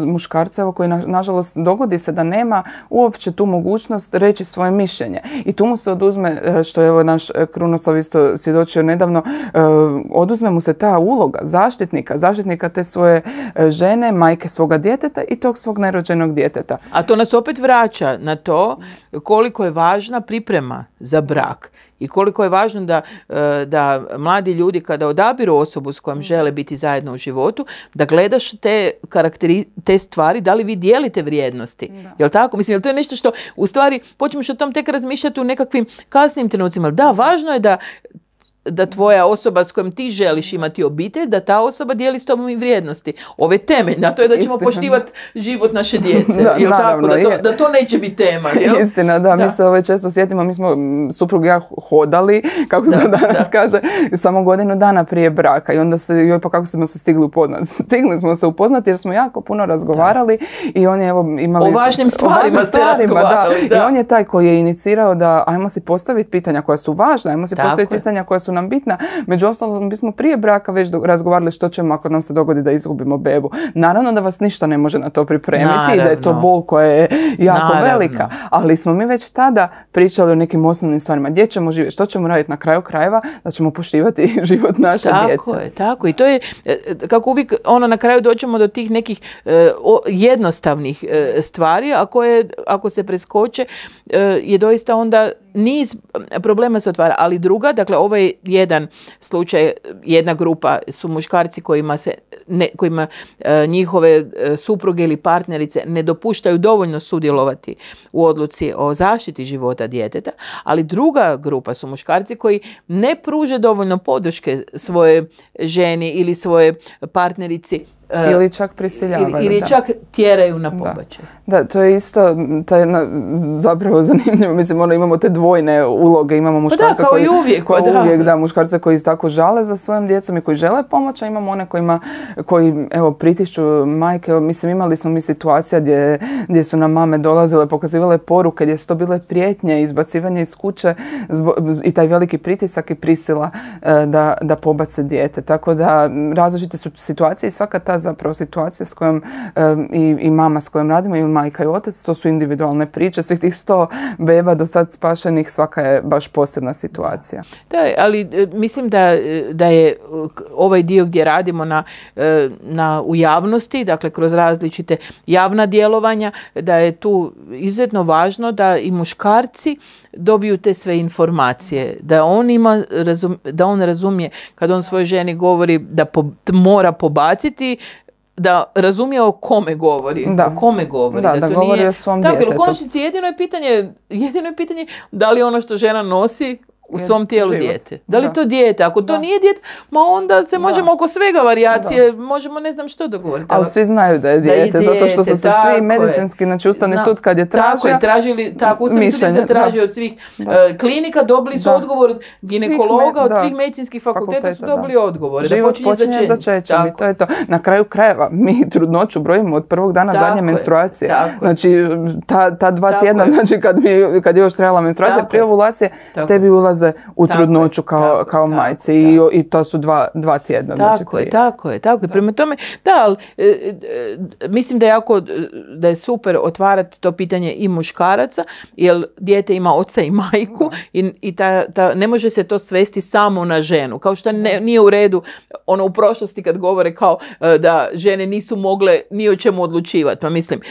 muškarca, koji nažalost dogodi se da nema uopće tu mogućnost reći svoje mišljenje. I tu mu se oduzme, što je evo naš Krunoslav isto svjedočio nedavno, oduzme mu se ta uloga zaštitnika te svoje žene, majke svoga djeteta i tog svog nerođenog djeteta. A to nas opet vraća na to koliko je važna priprema za brak i koliko je važno da mladi ljudi kada odabiru osobu s kojom žele biti zajedno u životu, da gledaš te stvari, da li vi dijelite vrijednosti. Jel tako? Mislim, jel to je nešto što u stvari počneš o tom tek razmišljati u nekakvim kasnim trenucima. Da, važno je da tvoja osoba s kojom ti želiš imati obitelj, da ta osoba dijeli s tobom i vrijednosti. Ove temeljne, a to je da ćemo poštivati život naše djece. Da, naravno, tako? Da to neće biti tema. Jel? Istina, da. Mi se često sjetimo, mi smo, suprug i ja, hodali, kako se danas kaže, samo godinu dana prije braka. I onda pa kako smo se stigli upoznati? Stigli smo se upoznati jer smo jako puno razgovarali i on je imali... O važnim stvarima ste razgovarali. Da. I on je taj koji je inicirao da ajmo si postaviti pitanja koja su važna, ajmo si postaviti pitanja koja su nam bitna. Među ostalom, bismo prije braka već razgovarali što ćemo ako nam se dogodi da izgubimo bebu. Naravno da vas ništa ne može na to pripremiti i da je to bol koja je jako velika. Ali smo mi već tada pričali o nekim osnovnim stvarima. Gdje ćemo živjeti, što ćemo raditi na kraju krajeva, da ćemo poštivati život naše djece. Tako je. I to je, kako uvijek, na kraju dođemo do tih nekih jednostavnih stvari, a koje, ako se preskoče, je doista onda niz problema se otvara. Ali druga, dakle, ovo je jedan slučaj, jedna grupa su muškarci kojima njihove supruge ili partnerice ne dopuštaju dovoljno sudjelovati u odluci o zaštiti života djeteta, ali druga grupa su muškarci koji ne pruže dovoljno podrške svoje ženi ili svoje partnerici. Ili čak prisiljavaju. Ili čak tjeraju na pobačaj. Da, to je isto zapravo zanimljivo. Mislim, imamo te dvojne uloge. Imamo muškarce muškarce koji tako žale za svojom djecom i koji žele pomoć, a imamo one koji pritišću majke. Mislim, imali smo situacija gdje su nam mame dolazile, pokazivale poruke, gdje su to bile prijetnje, izbacivanje iz kuće i taj veliki pritisak i prisila da pobace dijete. Tako da različite su situacije i svaka ta zapravo situacija s kojom i mama s kojom radimo, i majka i otac, to su individualne priče. Svih tih 100 beba do sad spašenih, svaka je baš posebna situacija. Da, ali mislim da je ovaj dio gdje radimo u javnosti, dakle kroz različite javna djelovanja, da je tu izuzetno važno da i muškarci dobiju te sve informacije, da on razumije kad on svojoj ženi govori da mora pobaciti, da razumije o kome govori. Da, da to govori o svom djetetu. U konačnici jedino je pitanje da li ono što žena nosi u svom tijelu dijete. Da li to dijete? Ako to nije dijete, onda se možemo oko svega varijacije, možemo ne znam što dogovoriti. Ali svi znaju da je dijete, zato što su se svi medicinski, znači Ustavni sud kad je tražio Ustavni sud je tražio od svih klinika, dobili su odgovor od ginekologa, od svih medicinskih fakulteta su dobili odgovore. Život počinje začećem i to je to. Na kraju krajeva mi trudnoću brojimo od prvog dana zadnje menstruacije. Znači ta 2 tjedna, znači kad je još trajala menstruacija, prije ovulacije, tebi ulaze u trudnoću kao majce i to su 2 tjedna. Tako je. Prema tome, ali mislim da je super otvarati to pitanje i muškaraca, jer dijete ima oca i majku i ne može se to svesti samo na ženu. Kao što nije u redu u prošlosti kad govore kao da žene nisu mogle ni o čemu odlučivati. Pa mislim,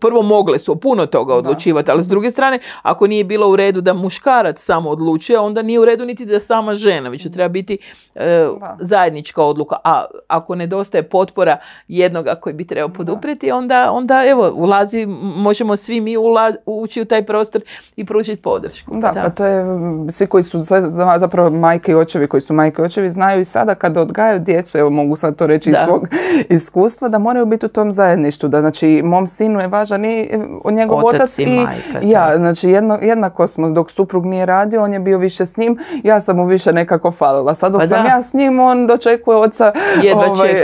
prvo mogle su o puno toga odlučivati, ali s druge strane, ako nije bilo u redu da muškarac samo odlučuje, onda nije u redu niti da sama žena, već treba biti zajednička odluka. A ako nedostaje potpora jednoga koji bi trebao poduprijeti, onda evo, možemo svi mi ući u taj prostor i pružiti podršku. Pa to je, svi koji su zapravo majke i očevi, koji su majke i očevi, znaju i sada kada odgajaju djecu, evo mogu sad to reći iz svog iskustva, da moraju biti u tom zajedništvu. Da, znači, mom sinu je važan i njegov otac i majka, ja. Znači, jednako smo, dok suprug nije radio, on je bio više više s njim, ja sam mu više nekako falila. Sad dok Pa sam da. ja s njim, on dočekuje oca,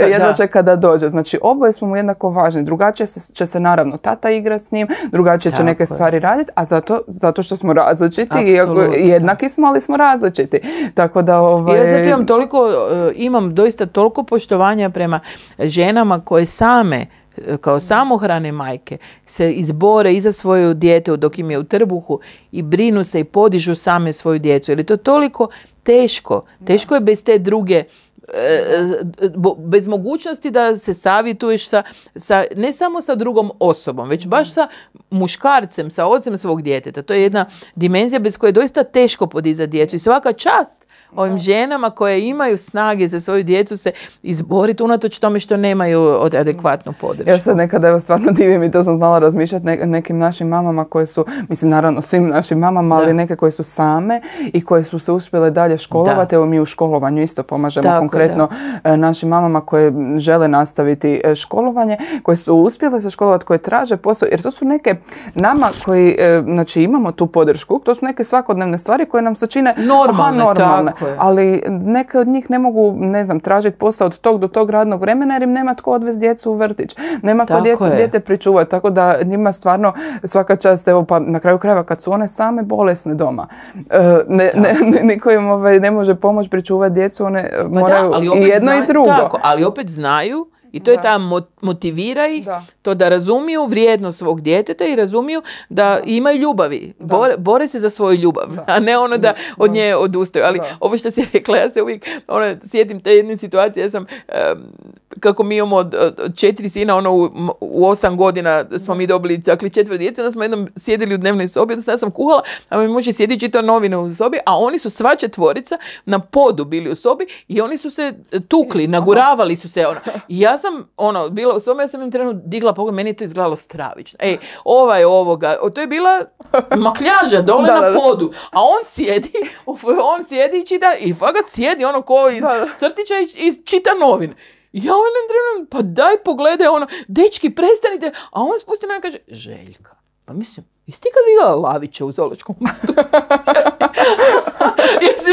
jedva čeka da dođe. Znači, oboje smo mu jednako važni. Drugačije će se naravno tata igrati s njim, drugačije će neke stvari raditi, a zato što smo različiti, jednaki smo, ali smo različiti. Tako da... Ja zato imam doista toliko poštovanja prema ženama koje same kao samohrane majke se izbore i za svoju dijete dok im je u trbuhu i brinu se i podižu same svoju djecu. Jer je to toliko teško. Teško je bez te druge, bez mogućnosti da se savjetuješ ne samo sa drugom osobom, već baš sa muškarcem, sa ocem svog djeteta. To je jedna dimenzija bez koje je doista teško podizati djecu. I svaka čast ovim ženama koje imaju snage za svoju djecu se izboriti unatoč tome što nemaju adekvatnu podršku. Ja sad nekada stvarno divim i to sam znala razmišljati nekim našim mamama koje su, mislim naravno svim našim mamama, ali neke koje su same i koje su se uspjele dalje školovati. Evo mi u školovanju isto pomažemo konkretno našim mamama koje žele nastaviti školovanje, koje su uspjele se školovati, koje traže posao, jer to su neke nama koji, znači imamo tu podršku, to su neke svakodnevne stvari koje nam se čine normalne. Ali neke od njih ne mogu, ne znam, tražiti posao od tog do tog radnog vremena jer im nema tko odvesti djecu u vrtić. Nema tko dijete pričuvati, tako da njima stvarno svaka čast, evo pa na kraju krajeva kad su one same bolesne doma, niko im ne može pomoći pričuvati djecu, one moraju i jedno i drugo. Tako, ali opet znaju. I to je ta motivira ih, to da razumiju vrijednost svog djeteta i razumiju da imaju ljubavi. Bore se za svoju ljubav, a ne ono da od nje odustaju. Ali ovo što si rekla, ja se uvijek sjetim te jedne situacije. Ja sam, kako mi imamo 4 sina, u 8 godina smo mi dobili, dakle 4 djece, onda smo jednom sjedili u dnevnoj sobi, onda sam kuhala, a mi muž je sjedi čitao novine u sobi, a oni su sva 4 na podu bili u sobi i oni su se tukli, naguravali su se. I ja sam bila u sobi, ja sam im trenutno digla pogled, meni je to izgledalo stravično. Ovoga, to je bila makljaža dole na podu, a on sjedi i čita, i fakat sjedi ko iz crtića i čita novine. Ja pa daj pogledaj, dečki prestanite, a on spusti na i kaže, Željka, pa mislim, jesi ti kad vidjela Lavića u zoološkom vrtu?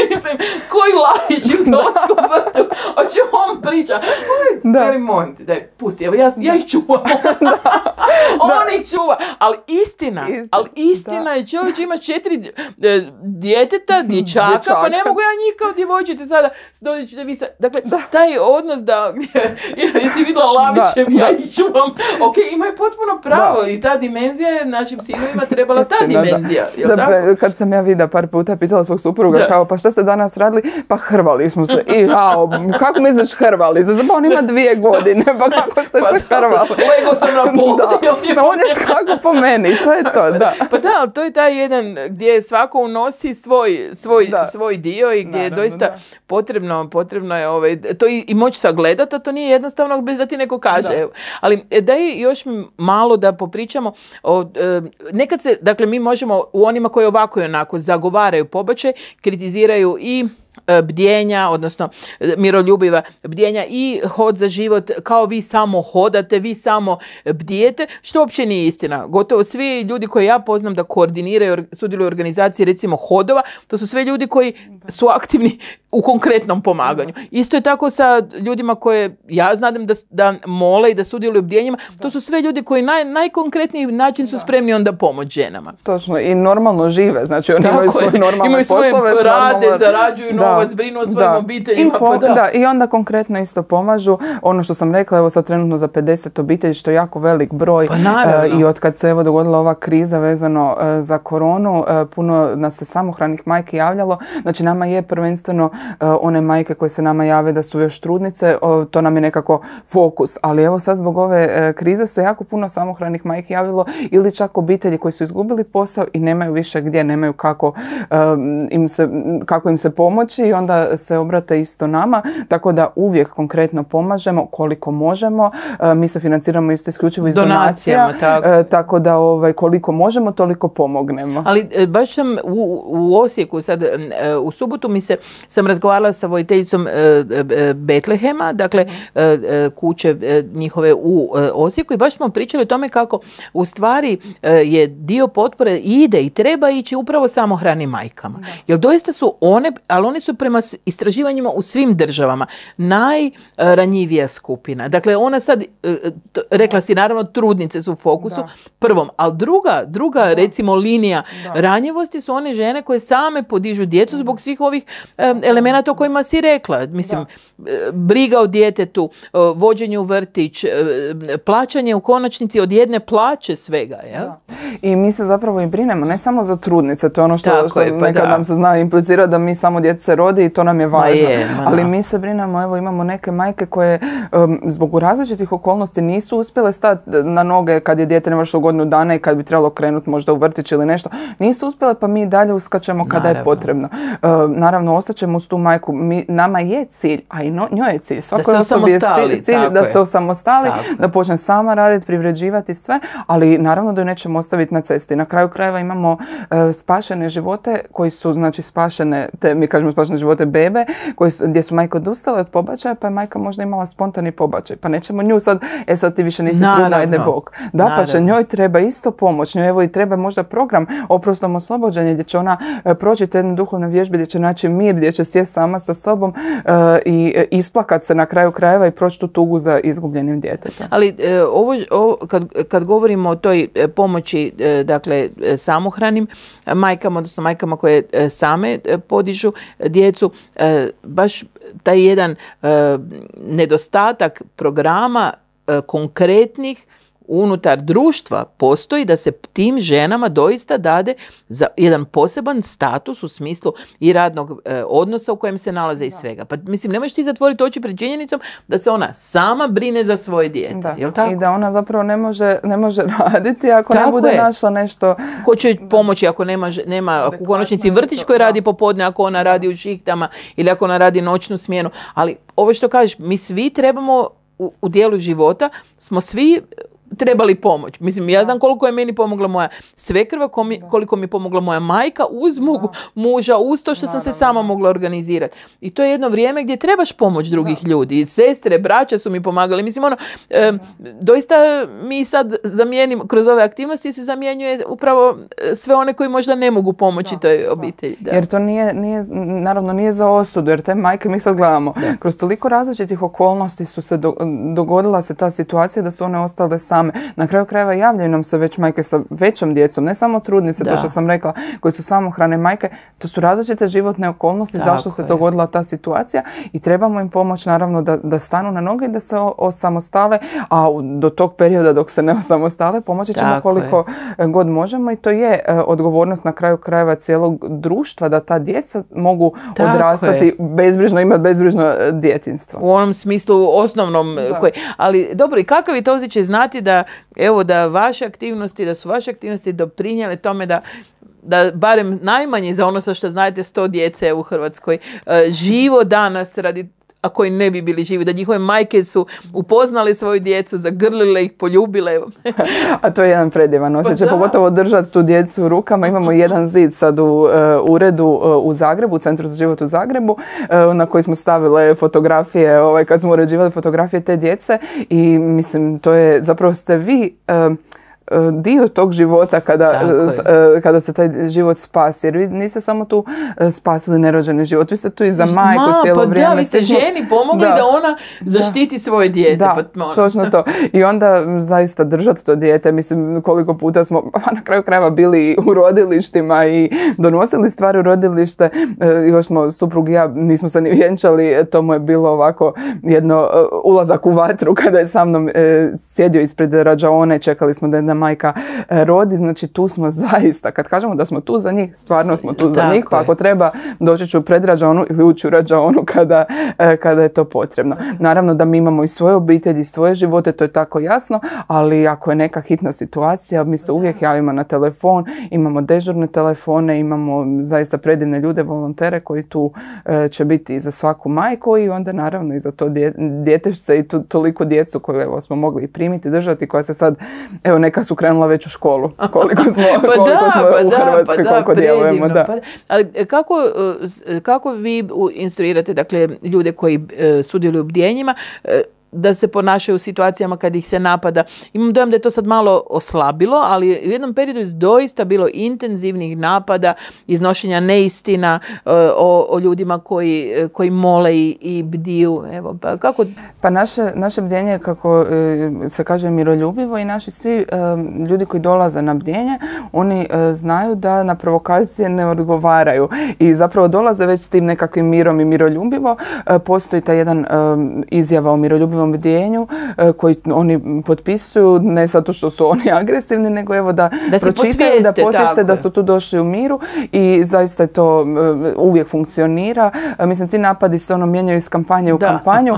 Mislim, koji Lavić u zoološkom vrtu? O čemu on priča? Molim te, daj, pusti, evo ja ih čuvam. On ih čuva. Ali istina je, čovječ ima 4 djeteta, dječaka, pa ne mogu ja njih kao djevojčice sada dođi da vi sad. Dakle, taj odnos da, jesi vidjela Lavićem, ja ih čuvam. Ok, imaju potpuno pravo i ta dimenzija je našim sinovima trebala ta dimenzija. Kad sam ja vidjela par puta, pitala svog supruga kao, pa šta ste danas radili? Pa hrvali smo se. Kako misliš hrvali? Pa on ima 2 godine, pa kako ste se hrvali? Lego sam na podu. On je skako po meni, to je to, da. Pa da, to je taj jedan gdje svako unosi svoj dio i gdje je doista potrebno je to i moći sagledati, a to nije jednostavno bez da ti neko kaže. Ali daj još malo da popričamo nekad se, dakle mi možemo u onima koji ovako i onako zagovaraju pobačaj, kritiziraju i bdjenja, odnosno miroljubiva bdjenja i hod za život, kao vi samo hodate, vi samo bdijete, što uopće nije istina. Gotovo svi ljudi koje ja poznam da koordiniraju, sudjeluju u organizaciji recimo hodova, to su sve ljudi koji su aktivni u konkretnom pomaganju. Isto je tako sa ljudima koje ja znam da mole i da sudjeluju u bdjenjima, to su sve ljudi koji najkonkretniji način su spremni onda pomoći ženama. Točno, i normalno žive, znači oni imaju svoje normalne poslove. Imaju svoje rade, zarađuju novac, brinu o svojim obiteljima. I onda konkretno isto pomažu. Ono što sam rekla, evo sad trenutno za 50 obitelji, što je jako velik broj. I od kad se dogodila ova kriza vezano za koronu, puno nas se samohranih majki javljalo. Znači nama je prvenstveno one majke koje se nama jave da su još trudnice, to nam je nekako fokus. Ali evo sad zbog ove krize se jako puno samohranih majki javljalo ili čak obitelji koji su izgubili posao i nemaju više gdje, nemaju kako im se pomoći i onda se obrate isto nama. Tako da uvijek konkretno pomažemo koliko možemo. Mi se financiramo isto isključivo iz donacija. Tako da koliko možemo toliko pomognemo. Ali baš sam u Osijeku sad u subotu sam razgovarala sa voditeljicom Betlehema, dakle kuće njihove u Osijeku, i baš smo pričali o tome kako u stvari je dio potpore ide i treba ići upravo samohranim majkama. Jer doista su one, ali one su prema istraživanjima u svim državama najranjivija skupina. Dakle, ona sad, rekla si naravno, trudnice su u fokusu prvom, ali druga recimo linija ranjivosti su one žene koje same podižu djecu zbog svih ovih elemenata o kojima si rekla. Mislim, briga o djetetu, vođenje u vrtić, plaćanje u konačnici od jedne plaće svega. Jel? I mi se zapravo i brinemo, ne samo za trudnice, to je ono što nekad nam se zna implicirati da mi samo djeca se rodi i to nam je važno. Ali mi se brinemo, evo imamo neke majke koje zbog različitih okolnosti nisu uspjele stati na noge kad je dijete navršilo godinu dana i kad bi trebalo krenuti možda u vrtić ili nešto. Nisu uspjele, pa mi dalje uskačemo kada je potrebno. Naravno, ostaćemo uz tu majku. Nama je cilj, a i njoj je cilj. Svakoj osobi je cilj da se osamostali, da počne sama raditi, privređivati sve, ali naravno da ju nećemo ostaviti na cesti. Na kraju krajeva imamo spašene živote koji su, znači, spašene, mi kažemo spašene živote bebe, gdje su majke odustale od pobačaja, pa je majka možda imala spontani pobačaj. Pa nećemo nju sad ti više nisi trudna, ajde Bog. Da, pa će njoj treba isto pomoć. Njoj evo i treba možda program oprostom oslobođenja gdje će ona proći te jedne duhovne vježbe, gdje će naći mir, gdje će sjesti sama sa sobom i isplakat se na kraju krajeva i proći tu tugu za izgubljenim djetetom. Ali kad govorimo o toj pomoći, dakle, samohranim majkama, odnosno majkama koje same podižu djecu, baš taj jedan nedostatak programa konkretnih unutar društva postoji da se tim ženama doista dade za jedan poseban status u smislu i radnog odnosa u kojem se nalaze i svega. Pa mislim, ne možeš ti zatvoriti oči pred činjenicom da se ona sama brine za svoje dijete. Jel tako? I da ona zapravo ne može raditi ako ne bude našla nešto. Ko će pomoći ako nema ako u konačnici vrtić koji radi popodne, ako ona radi u šihtama ili ako ona radi noćnu smjenu. Ali ovo što kažeš, mi svi trebamo u dijelu života, smo svi trebali pomoć. Mislim, ja znam koliko je meni pomogla moja svekrva, koliko mi je pomogla moja majka uz mog muža, uz to što sam se sama mogla organizirati. I to je jedno vrijeme gdje trebaš pomoć drugih ljudi. I sestre, braća su mi pomagali. Mislim, doista mi sad kroz ove aktivnosti se zamjenjuje upravo sve one koji možda ne mogu pomoći toj obitelji. Da. Jer to naravno nije za osudu, jer te majke mi sad gledamo. Kroz toliko različitih okolnosti su se dogodila se ta situacija da su one ostale same. Na kraju krajeva javljaju nam se već majke sa većom djecom, ne samo trudnice, to što sam rekla, koji su samohrane majke. To su različite životne okolnosti zašto se dogodila ta situacija i trebamo im pomoći naravno da stanu na noge i da se osamostale, a do tog perioda dok se ne osamostale pomoći ćemo koliko god možemo i to je odgovornost na kraju krajeva cijelog društva da ta djeca mogu odrastati bezbrižno, imati bezbrižno djetinjstvo. U onom smislu osnovnom. Ali dobro, i kakav je to osjećaj znati da su vaše aktivnosti doprinijele tome da barem najmanje za ono što znate 100 djece u Hrvatskoj živo danas a koji ne bi bili živi, da njihove majke su upoznali svoju djecu, zagrlile ih, poljubile. A to je jedan predivan osjećaj, pogotovo držati tu djecu u rukama. Imamo jedan zid sad u uredu u Zagrebu, u Centru za život u Zagrebu, na koji smo stavile fotografije, kad smo uređivali fotografije te djece i mislim, to je, zapravo ste vi dio tog života kada se taj život spasi. Jer vi niste samo tu spasili nerođeni život, vi ste tu i za majku cijelo vrijeme. Vi ste ženi pomogli da ona zaštiti svoje dijete. Da, točno to. I onda zaista držati to dijete. Mislim, koliko puta smo na kraju krajeva bili u rodilištima i donosili stvari u rodilište. Još smo, suprug i ja, nismo se ni vjenčali. To mu je bilo ovako jedno ulazak u vatru kada je sa mnom sjedio ispred rađaone. Čekali smo da jedna majka rodi, znači tu smo zaista, kad kažemo da smo tu za njih, stvarno smo tu za njih, pa ako treba doći ću pred rađaonu ili ući u rađaonu kada je to potrebno. Naravno da mi imamo i svoje obitelji, svoje živote, to je tako jasno, ali ako je neka hitna situacija, mi se uvijek javimo na telefon, imamo dežurne telefone, imamo zaista predivne ljude, volontere koji tu će biti i za svaku majku i onda naravno i za to djetešce i toliko djecu koju smo mogli primiti, držati, koja se sad, neka su krenula već u školu. Koliko smo u Hrvatskoj, koliko djelujemo. Da. Ali kako vi instruirate, dakle, ljude koji sudjeluju u bdjenjima, da se ponašaju u situacijama kad ih se napada? Imam dojam da je to sad malo oslabilo, ali u jednom periodu je doista bilo intenzivnih napada, iznošenja neistina o ljudima koji mole i bdiju. Evo, pa kako? Pa naše bdjenje, kako se kaže, miroljubivo, i naši svi ljudi koji dolaze na bdjenje, oni znaju da na provokacije ne odgovaraju i zapravo dolaze već s tim nekakvim mirom i miroljubivo. Postoji ta jedan izjava o miroljubivom bdjenju koji oni potpisuju, ne zato što su oni agresivni, nego evo da pročitaju, da posvijeste da su tu došli u miru, i zaista je to uvijek funkcionira. Mislim, ti napadi se mijenjaju iz kampanje u kampanju,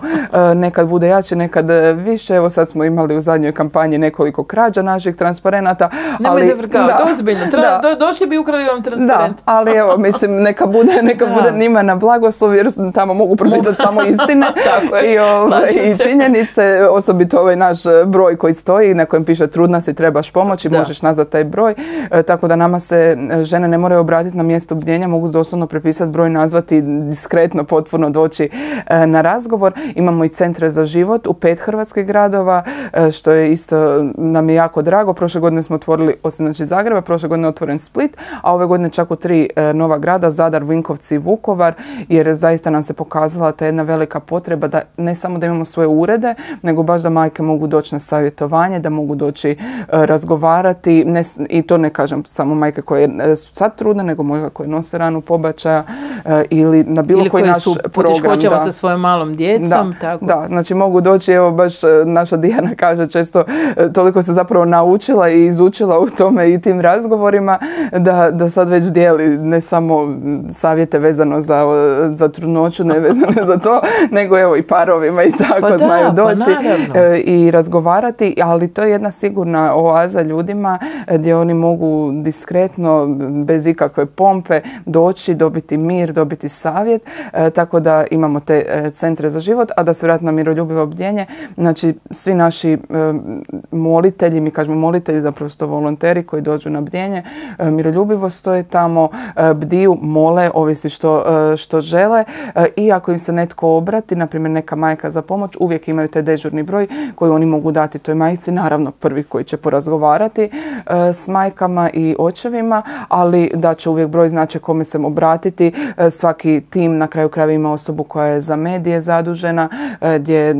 nekad bude jače, nekad više. Evo sad smo imali u zadnjoj kampanji nekoliko krađa naših transparenata. Nemoj zafrkavati, ozbiljno. Došli bi ukrali vam transparent. Da, ali evo, mislim, neka bude njima na blagoslov, jer tamo mogu pročitati samo istine i činjenice, osobito ovaj naš broj koji stoji, na kojem piše trudna si, trebaš pomoći, možeš nazvati taj broj. Tako da nama se žene ne moraju obratiti na mjesto bdjenja, mogu doslovno prepisati broj, nazvati, diskretno, potpuno doći na razgovor. Imamo i centre za život u 5 hrvatskih gradova, što je isto nam je jako drago. Prošle godine smo otvorili, osim znači Zagreba, prošle godine je otvoren Split, a ove godine čak u 3 nova grada, Zadar, Vinkovci i Vukovar, jer zaista nam se pokazala ta jedna velika potreba da ne samo da imamo svoje urede, nego baš da majke mogu doći na savjetovanje, da mogu doći razgovarati, i to ne kažem samo majke koje su sad trudne, nego možda koje nose ranu pobačaja ili na bilo koji naš program. Ili koje su sa svojom malom djecom. Da, znači mogu doći, evo baš naša Dijana kaže često, toliko se zapravo naučila i izučila u tome i tim razgovorima, da sad već dijeli ne samo savjete vezano za trudnoću, ne vezano za to, nego evo i parovima i tako znaju doći i razgovarati, ali to je jedna sigurna oaza ljudima gdje oni mogu diskretno, bez ikakve pompe doći, dobiti mir, dobiti savjet, tako da imamo te centre za život. A da se vratim na miroljubivo bdjenje, znači svi naši molitelji, mi kažemo molitelji, zapravo su to volonteri koji dođu na bdjenje, miroljubivo stoje tamo, bdiju, mole, ovisi što žele, i ako im se netko obrati, na primjer neka majka za pomoć, uvijek imaju taj dežurni broj koji oni mogu dati toj majci, naravno prvi koji će porazgovarati s majkama i očevima, ali da će uvijek broj, znači kome se obratiti. Svaki tim na kraju krajeva ima osobu koja je za medije zadužena, gdje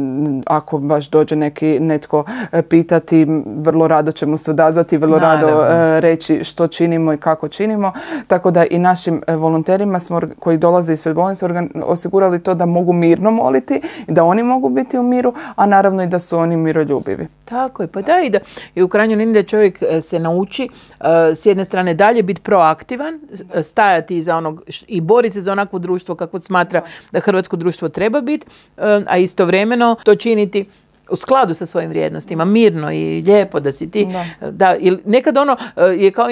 ako baš dođe netko pitati, vrlo rado ćemo se odazvati, vrlo rado reći što činimo i kako činimo. Tako da i našim volonterima koji dolaze ispred bolnice osigurali to da mogu mirno moliti, da oni mogu biti u miru, a naravno i da su oni miroljubivi. Tako je, pa da, i u krajnjoj liniji da čovjek se nauči s jedne strane dalje biti proaktivan, stajati iza onog i boriti se za onakvo društvo kakvo smatra da hrvatsko društvo treba biti, a istovremeno to činiti u skladu sa svojim vrijednostima, mirno i lijepo da si ti. Da, nekad je kao,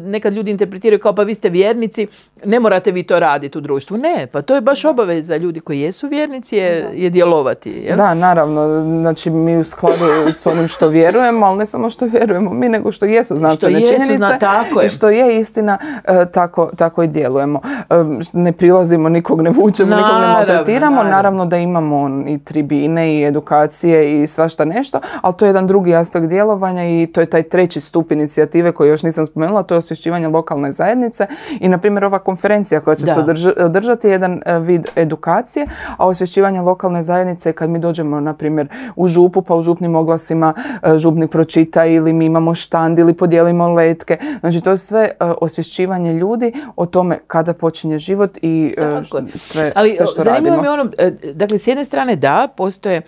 nekad ljudi interpretiraju kao pa vi ste vjernici, ne morate vi to raditi u društvu. Ne, pa to je baš obaveza ljudi koji jesu vjernici je djelovati. Jel? Da, naravno. Znači mi u skladu s onim što vjerujemo, ali ne samo što vjerujemo mi, nego što jesu znanstvene činjenice i što je istina, tako i djelujemo. Ne prilazimo, nikog ne vučemo, nikog ne maltretiramo. Naravno da imamo i tribine i edukacije i svašta nešto, ali to je jedan drugi aspekt djelovanja i to je taj 3. stup inicijative koji još nisam spomenula, to je osvješćivanje lokalne zajednice i na primjer ova konferencija koja će se održati je jedan vid edukacije, a osvješćivanje lokalne zajednice je kad mi dođemo na primjer u župu, pa u župnim oglasima župnik pročita ili mi imamo štand ili podijelimo letke. Znači to je sve osvješćivanje ljudi o tome kada počinje život i sve što radimo. Ali zanimljivo je dakle s jedne strane da, postoje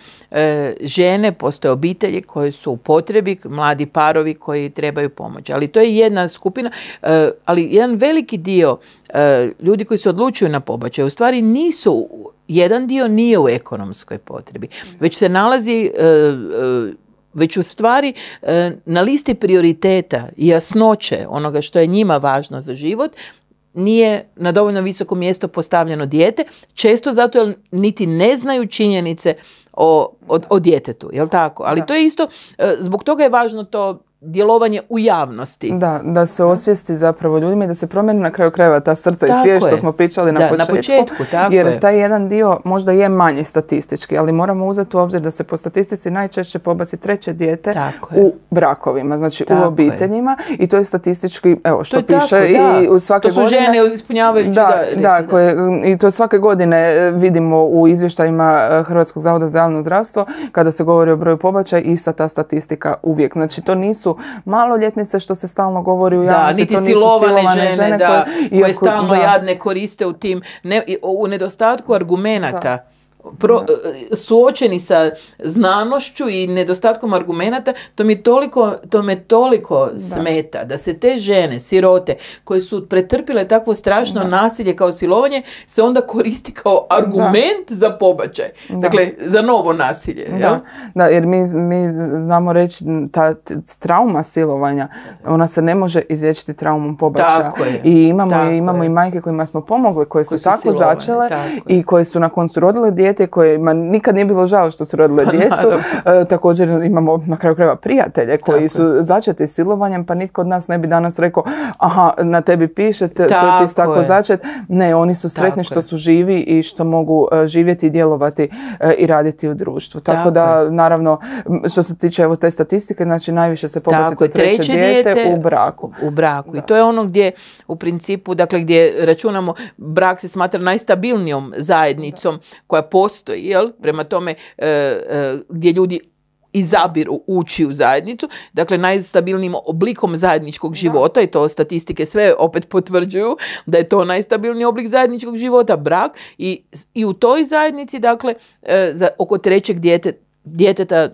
žene, postoje obitelji koje su u potrebi, mladi parovi koji trebaju pomoć. Ali to je jedna skupina, ali jedan veliki dio ljudi koji se odlučuju na pobačaj u stvari nisu, jedan dio nije u ekonomskoj potrebi, već se nalazi već u stvari na listi prioriteta i jasnoće onoga što je njima važno za život, nije na dovoljno visoko mjesto postavljeno dijete, često zato jer niti ne znaju činjenice o djetetu, jel tako? Ali to je isto, zbog toga je važno to djelovanje u javnosti. Da se osvijesti zapravo ljudima i da se promijeni na kraju krajeva ta srca i svijest što smo pričali na početku. Jer taj jedan dio možda je manji statistički, ali moramo uzeti u obzir da se po statistici najčešće pobaci treće dijete u brakovima, znači u obiteljima, i to je statistički, evo što piše i u svake godine. To su žene ispunjavajući. I to svake godine vidimo u izvještajima Hrvatskog zavoda za javno zdravstvo kada se govori o broju pobačaja, ista ta statistika uvijek. Znači to nisu maloljetnice što se stalno govori u javnosti, to nisu silovane žene koje stalno jadne koriste u tim, u nedostatku argumenata. Suočeni sa znanošću i nedostatkom argumenata, to me toliko smeta da se te žene, sirote, koje su pretrpile takvo strašno nasilje kao silovanje, se onda koristi kao argument za pobačaj. Dakle, za novo nasilje. Jer mi znamo reći ta trauma silovanja, ona se ne može izliječiti traumom pobačaja. I imamo i majke kojima smo pomogli, koje su tako začele i koje su na koncu rodile dijete kojima nikad nije bilo žao što su rodile djecu. Također imamo na kraju krajeva prijatelje koji su začeti silovanjem, pa nitko od nas ne bi danas rekao aha, na tebi piše, ti si tako začet. Ne, oni su sretni što su živi i što mogu živjeti i djelovati i raditi u društvu. Tako da, naravno, što se tiče evo te statistike, znači najviše se pobaci to treće dijete u braku. U braku. I to je ono gdje u principu, dakle gdje računamo, brak se smatra najstabilnijom zajednicom koja postoji, jel? Prema tome gdje ljudi izabiru ući u zajednicu, dakle najstabilnijim oblikom zajedničkog života, i to statistike sve opet potvrđuju da je to najstabilniji oblik zajedničkog života, brak, i u toj zajednici, dakle, oko trećeg djeteta,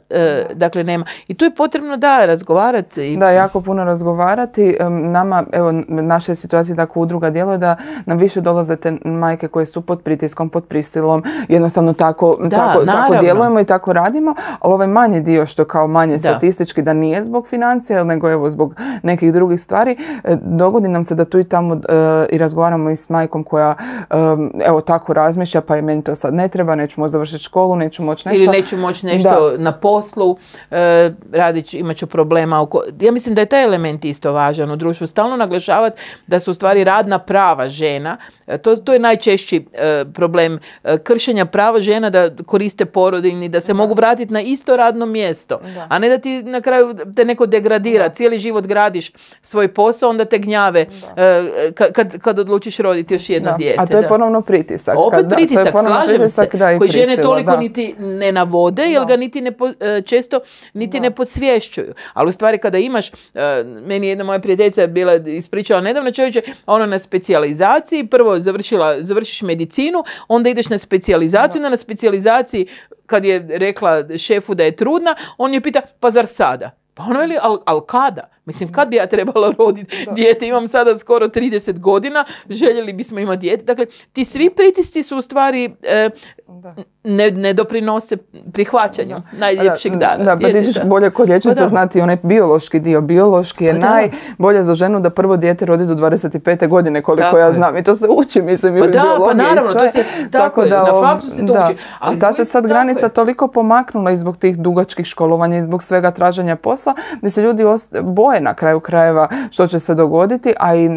dakle, nema. I tu je potrebno razgovarati. Da, jako puno razgovarati. Nama, evo, naša situacija tako udruga djeluje da nam više dolaze te majke koje su pod pritiskom, pod prisilom, jednostavno tako djelujemo i tako radimo, ali ovaj manji dio što kao manje statistički, da nije zbog financija, nego evo zbog nekih drugih stvari, dogodi nam se da tu i tamo i razgovaramo i s majkom koja evo tako razmišlja, pa je meni to sad ne treba, neću moći završiti školu, neću moći nešto. Ili neću moći nešto na poslu, imat ću problema. Ja mislim da je taj element isto važan u društvu. Stalno naglašavati da su u stvari radna prava žena. To je najčešći problem kršenja prava žena, da koriste porodiljni, da se mogu vratiti na isto radno mjesto. A ne da ti na kraju te neko degradira. Cijeli život gradiš svoj posao, onda te gnjave kad odlučiš roditi još jedno dijete. A to je ponovno pritisak. Opet pritisak, slažem se. Koji žene toliko niti ne navode, jer ga često ne podsvješćuju. Ali u stvari kada imaš, meni jedna moja prijateljica je bila ispričala nedavno, čovječe, ona na specijalizaciji, prvo završiš medicinu, onda ideš na specijalizaciju, onda na specijalizaciji kad je rekla šefu da je trudna, on je pita, pa zar sada? Pa ona veli, ali kada? Mislim, kad bi ja trebala roditi dijete? Imam sada skoro 30 godina, željeli bismo imati dijete. Dakle, ti svi pritisci su u stvari ne doprinose prihvaćanju najljepšeg dana. Da, pa ti ćeš bolje kod liječnica znati onaj biološki dio. Biološki je najbolje za ženu da prvo dijete rodi do 25. godine, koliko ja znam. I to se uči, mislim, i u biologiji. Pa naravno, to se tako je, na faktu se to uči. Ali ta se sad granica toliko pomaknula i zbog tih dugačkih školovanja i zbog svega traženja posla, gdje se ljudi boje na kraju krajeva što će se dogoditi, a i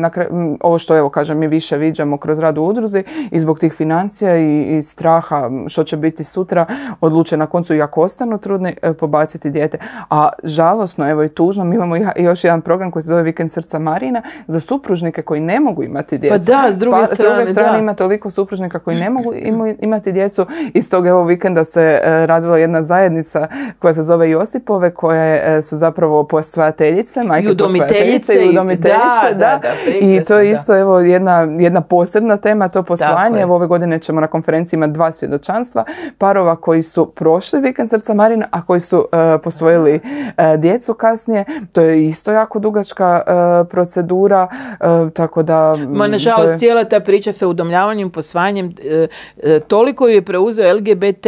ovo što, evo kažem, mi više viđamo kroz rad u udruzi i zbog tih financija i straha što će biti sutra, odluče na koncu, i ako ostanu trudni, pobaciti dijete. A žalosno, evo i tužno, mi imamo još jedan program koji se zove Vikend srca Marina za supružnike koji ne mogu imati djecu. Pa da, s druge strane ima toliko supružnika koji ne mogu imati djecu. Iz tog evo vikenda se razvila jedna zajednica koja se zove Josipove, koje su zapravo posvajateljice, majke posvajateljice i udomiteljice. I to je isto evo jedna posebna tema, to posvajanje. Evo ove godine ćemo na konferenciji imati 2 svjedočanstva parova koji su prošli Vikend srca Marina, a koji su posvojili djecu kasnije. To je isto jako dugačka procedura, tako da... nažalost, cijela ta priča sa udomljavanjem, posvajanjem, toliko ju je preuzeo LGBT,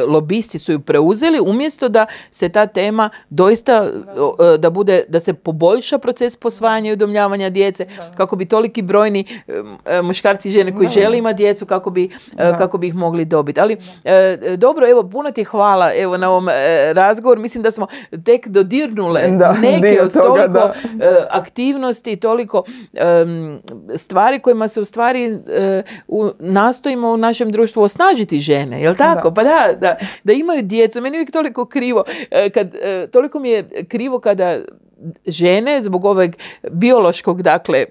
lobisti su ju preuzeli, umjesto da se ta tema doista da se poboljša proces posvajanja i udomljavanja djece, kako bi toliki brojni muškarci i žene koji žele imati djecu, kako bi ih mogli dobiti. Ali dobro, evo, puno ti hvala evo na ovom razgovoru. Mislim da smo tek dodirnule neke od toliko aktivnosti, toliko stvari kojima se u stvari nastojimo u našem društvu osnažiti žene, jel tako? Pa da imaju djecu. Meni je uvijek toliko krivo, toliko mi je krivo kada žene zbog ovog biološkog, dakle,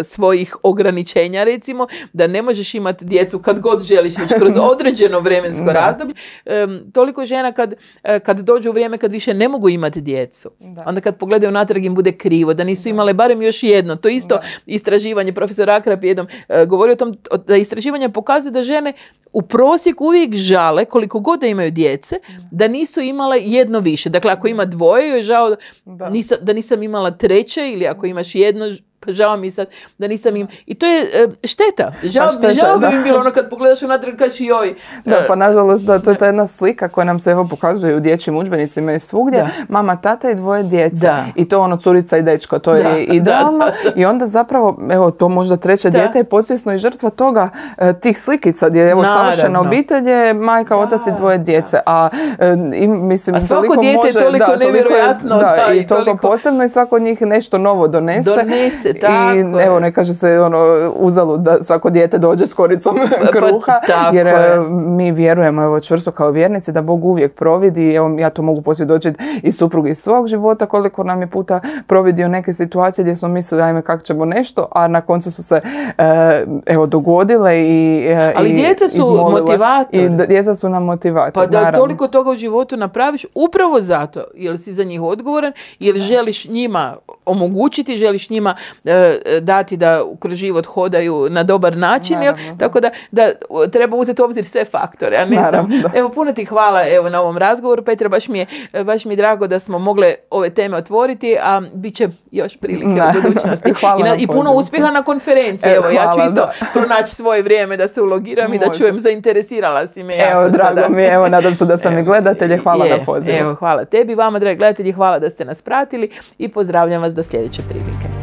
svojih ograničenja, recimo, da ne možeš imati djecu kad god želiš, već kroz određeno vremensko razdoblje. Toliko žena kad dođu u vrijeme kad više ne mogu imati djecu. Onda kad pogledaju natrag im bude krivo, da nisu imale barem još jedno. To isto istraživanje, profesor Akrap jednom govori o tom, da istraživanja pokazuju da žene u prosjeku uvijek žale, koliko god da imaju djece, da nisu imale jedno više. Dakle, ako ima dvoje, joj je žao da nisam imala treće, ili ako imaš jedno, pa žao mi sad da nisam im... I to je šteta. Žao bi mi bilo ono kad pogledaš unatrag kažeš joj. Da, pa nažalost to je ta jedna slika koja nam se evo pokazuje u dječjim udžbenicima i svugdje. Mama, tata i dvoje djece. I to ono curica i dečko, to je idealno. I onda zapravo, evo, to možda treće dijete je podsvjesno i žrtva toga, tih slikica gdje evo savršena obitelj je majka, otac i dvoje djece. A mislim, svako dijete je toliko nevjerojatno. I toliko posebno i svako od njih nešto novo donese. I evo, ne kaže se uzalud da svako dijete dođe s koricom kruha, jer mi vjerujemo, evo, čvrsto kao vjernici da Bog uvijek providi. Evo, ja to mogu posvjedočiti i suprugi iz svog života, koliko nam je puta providio neke situacije gdje smo mislili ajme kako ćemo nešto, a na koncu su se evo dogodile ali djeca su motivator. I djeca su nam motivator. Pa da toliko toga u životu napraviš upravo zato, jer si za njih odgovoran, jer želiš njima omogućiti, želiš njima dati da kroz život hodaju na dobar način, tako da treba uzeti u obzir sve faktore. Evo, puno ti hvala evo, na ovom razgovoru, Petra, baš mi je drago da smo mogle ove teme otvoriti, a bit će još prilike u budućnosti. I puno uspjeha na konferenciji. Evo, ja ću isto pronaći svoje vrijeme da se ulogiram i da čujem, zainteresirala si me. Evo, drago mi je, evo, nadam se da sam i gledatelje, hvala na pozivu. Evo, hvala tebi, vama, dragi gledatelji, hvala da ste nas pratili i pozdravljam vas do sljedeće prilike.